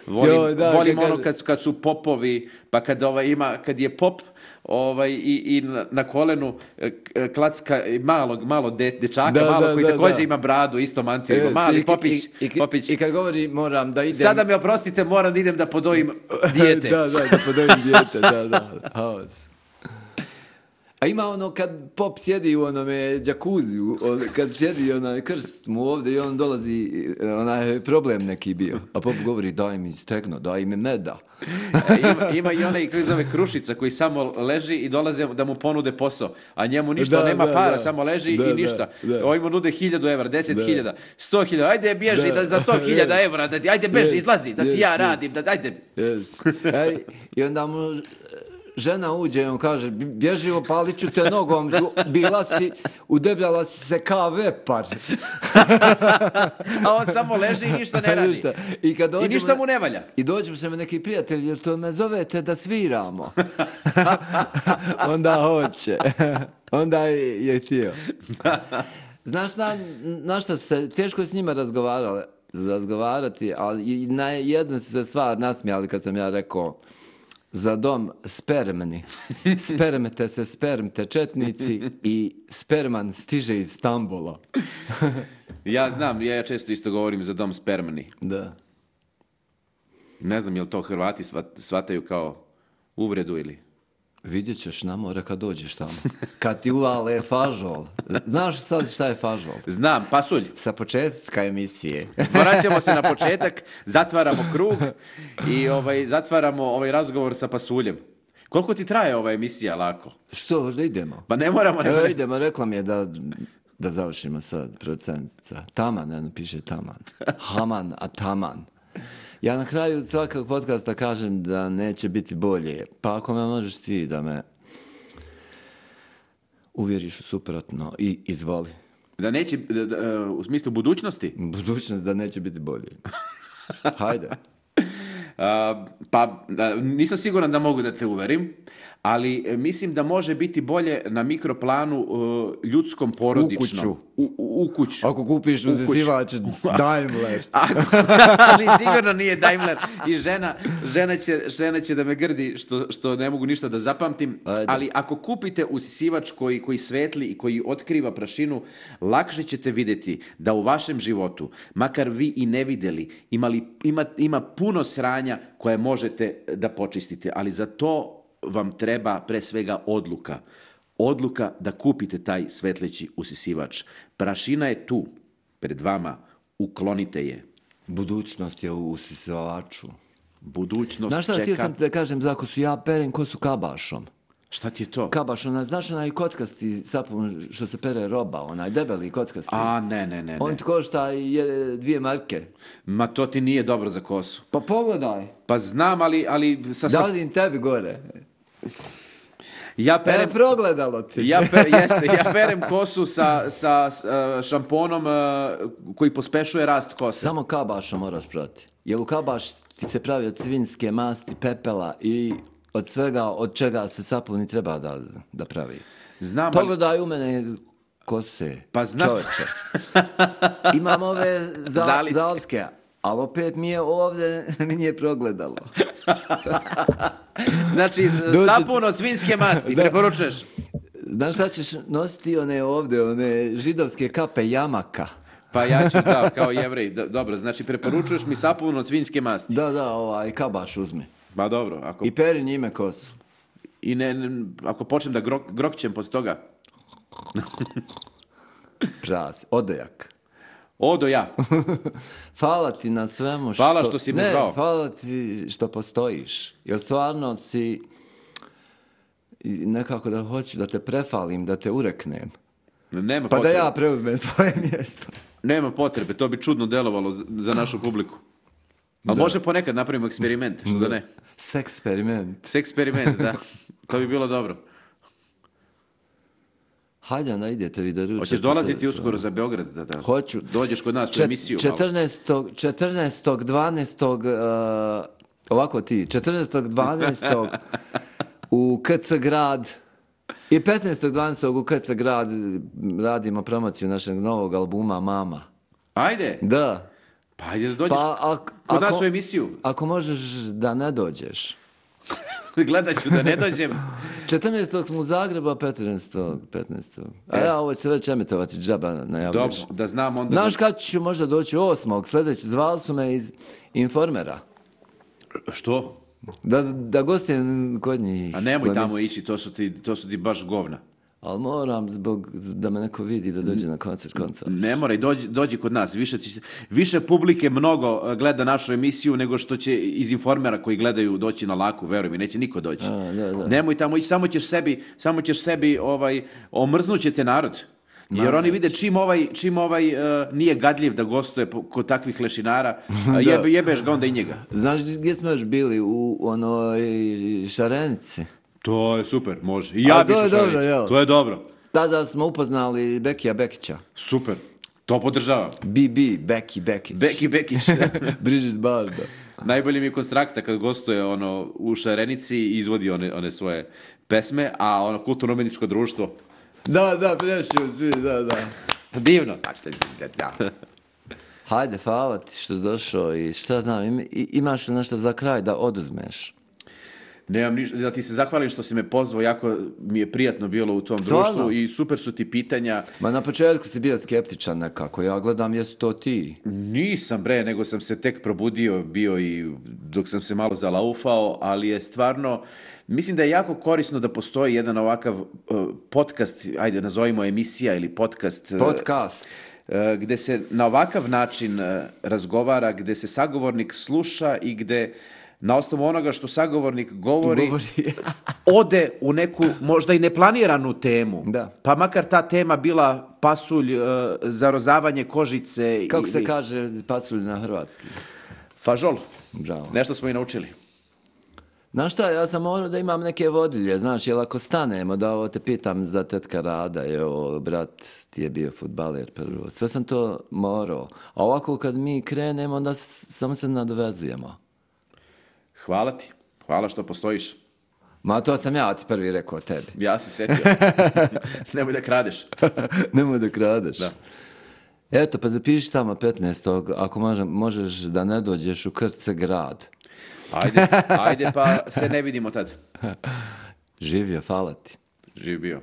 Volim, Joj, da, volim kad- ono kad, kad su popovi, pa kad, ovaj, ima, kad je pop ovaj, i, i na, na kolenu e, k- klacka malog, malo de, dečaka, Da, malo da, koji da, također da. ima bradu, isto mantiju, ima E, mali i- popić. i, i, popić. I kad govori moram da idem... Sada me oprostite, moram da idem da podojim dijete. da, da, da podojim dijete, da, da. Haos. A ima ono kad pop sjedi u onome džakuziju, on- kad sjedi onaj krst mu ovdje i on dolazi, onaj problem neki bio. A pop govori daj mi stegno, daj mi meda. E, ima, ima i onaj koji zove Krušica koji samo leži i dolaze da mu ponude posao, a njemu ništa, Da, nema da, para, da. samo leži Da, i da, ništa. da. Ovi mu nude hiljadu evra, deset Da. hiljada, sto hiljada, ajde bježi Da. da, za sto hiljada evra, da ti, ajde beži, Yes, izlazi, da ti yes, ja yes. radim, da, ajde. Yes. Ej, i onda mu žena uđe i on kaže bježi opalit ću te nogom, žu- bila si, udebljala si se kao vepar. A on samo leži i ništa ne radi. Ništa. I, kad I dođemo ništa mu ne valja. I dođemo se neki prijatelj, jel to me zovete da sviramo? Onda hoće. Onda je, je htio. Znaš na, na šta su se, teško je s njima razgovarali, razgovarati, ali i na jednu su se stvar nasmijali kad sam ja rekao za dom spermni. Spermete se, spermte četnici i sperman stiže iz Stambula. Ja znam, ja često isto govorim za dom spermni. Da. Ne znam, jel to Hrvati svat- shvataju kao uvredu ili... Vidjet ćeš na more kad dođeš tamo. Kad ti uvale fažol. Znaš sad šta je fažol? Znam, pasulj. Sa početka emisije. Vraćamo se na početak, zatvaramo krug i ovaj, zatvaramo ovaj razgovor sa pasuljem. Koliko ti traje ova emisija, Lako? Što, možda idemo? Pa ne moramo... Evo idemo, rekla mi je da, da završimo sad, producentica. Taman, ne piše Taman. Haman, a Taman. Ja na kraju svakog podcasta kažem da neće biti bolje. Pa ako me možeš ti da me uvjeriš u suprotno i izvoli. Da neće, da, da, u smislu budućnosti? Budućnost da neće biti bolje. Hajde. Uh, pa nisam siguran da mogu da te uverim, ali mislim da može biti bolje na mikroplanu uh, ljudskom porodičnom. U kuću. U, u, u kuću. Ako kupiš uzesivač Daimler. Ako, ali sigurno nije Daimler. I žena, žena, će, žena će da me grdi što, što ne mogu ništa da zapamtim. Ajde. Ali ako kupite usisivač koji, koji svetli i koji otkriva prašinu, lakše ćete vidjeti da u vašem životu, makar vi i ne vidjeli, imali, ima, ima puno sranja koje možete da počistite. Ali za to vam treba pre svega odluka. Odluka da kupite taj svetleći usisivač. Prašina je tu, pred vama, uklonite je. Budućnost je u usisivaču. Budućnost znaš šta, čeka... htio sam te da kažem za kosu, ja perem kosu kabašom. Šta ti je to? Kabaš, onaj, znaš onaj kockasti sapun što se pere roba, onaj debeli kockasti. A, ne, ne, ne. On ne. ti košta je, dvije marke. Ma to ti nije dobro za kosu. Pa pogledaj. Pa znam, ali... ali sa, da li tebi gore? Ja perem, e, progledalo ti. Ja, per, jeste, ja perem kosu sa, sa, sa šamponom uh, koji pospešuje rast kose. Samo kabašom moraš prati. Jer u kabaš ti se pravi od svinjske masti, pepela i od svega od čega se sapun i treba da, da pravi. Znam, pogledaj ali... u mene kose. Pa znam. Čovječe. Imam ove za, zalske, ali opet mi je ovdje, mi nije progledalo. Znači, sapun od svinjske masti, preporučuješ? Znaš šta ćeš nositi one ovdje, one židovske kape Jamaka? Pa ja ću, da, kao Jevrej. Dobro, znači, preporučuješ mi sapun od svinjske masti? Da, da, ovaj, kabaš uzmi. Ba dobro. Ako... I peri njime kosu. I ne, ne ako počnem da grok, grokćem poslije toga? Pras, odojak. Odo ja. Hvala ti na svemu što... Hvala što si me ne, zvao. Hvala ti što postojiš. Jer stvarno si... Nekako da hoću da te prefalim, da te ureknem. Nema pa potrebe. Da ja preuzmem tvoje mjesto. Nema potrebe, to bi čudno delovalo za, za našu publiku. Ali da. Može ponekad napravimo eksperiment, što da, da ne. Seksperiment. Seksperiment, da. To bi bilo dobro. Hajde, onda idete vi da ručate. Hoćeš dolaziti uskoro za Beograd? Da, da. Hoću. Dođeš kod nas u emisiju. četrnaestog dvanaestog Uh, ovako ti, četrnaestog dvanaestog u K C grad i petnaestog dvanaestog u K C grad radimo promociju našeg novog albuma Mama. Ajde. Da. Pa ajde da dođeš pa, ak, kod ako, nas u emisiju. Ako možeš da ne dođeš. Gledat ću da ne dođem. četrnaestog smo u Zagrebu, a petnaestog petnaestog A e. ja ovo će već emitovati džaba najavljuješ. Dobro, da znam onda... Znaš kad ću možda doći osmog Sljedeći, zvali su me iz Informera. Što? Da, da gostujem kod njih. A nemoj tamo mis... ići, to su, ti, to su ti baš govna. Ali moram, zbog da me neko vidi da dođe na koncert koncert. Ne moraj, dođi, dođi kod nas. Više, više publike mnogo gleda našu emisiju nego što će iz Informera koji gledaju doći na Laku, veruj mi, neće niko doći. A, da, da. Nemoj tamo ići, samo ćeš sebi, samo ćeš sebi ovaj, omrznućete narod. Jer oni vide čim ovaj, čim ovaj uh, nije gadljiv da gostuje kod takvih lešinara, uh, jebe, jebeš ga onda i njega. Znaš gdje smo još bili? U onoj Šarenici. To je super, može. I ja biš u Šarenici. To je dobro. Tada smo upoznali Bekija Bekića. Super. To podržavam. B B, Beki Bekić. Beki Bekić. Brigitte Barda. Najbolji mi je Konstrakta kad gostuje ono, u Šarenici i izvodi one, one svoje pesme, a ono kulturno-umjetničko društvo. Da, da, prešao svi, da, da. Divno. Hajde, hvala ti što si došao i šta znam, imaš li nešto za kraj da oduzmeš? Nemam ništa, da ti se zahvalim što si me pozvao, jako mi je prijatno bilo u tom Stvarno? društvu i super su ti pitanja. Ma na početku si bio skeptičan nekako, ja gledam jesu to ti. Nisam bre, nego sam se tek probudio, bio i dok sam se malo zalaufao, ali je stvarno, mislim da je jako korisno da postoji jedan ovakav uh, podcast, ajde nazovimo emisija ili podcast. Uh, Podcast. uh, gde se na ovakav način uh, razgovara, gde se sagovornik sluša i gde na osnovu onoga što sagovornik govori, Govori. ode u neku možda i neplaniranu temu. Da. Pa makar ta tema bila pasulj, uh, zarozavanje kožice. Kako se ili kaže pasulj na hrvatski? fažol. Bravo. Nešto smo i naučili. Znaš šta, ja sam morao da imam neke vodilje, znaš, jel ako stanemo, da ovo te pitam za tetka Rada, evo, brat ti je bio fudbaler prvo, sve sam to morao. A ovako kad mi krenemo, onda s- samo se nadovezujemo. Hvala ti. Hvala što postojiš. Ma to sam ja ti prvi rekao tebi. Ja se setio. Nemoj da kradeš. Nemoj da kradeš. Da. Eto, pa zapiši tamo petnaestog ako može, možeš da ne dođeš u Krce grad. Ajde, ajde pa se ne vidimo tad. Živio, hvala ti. Živ bio.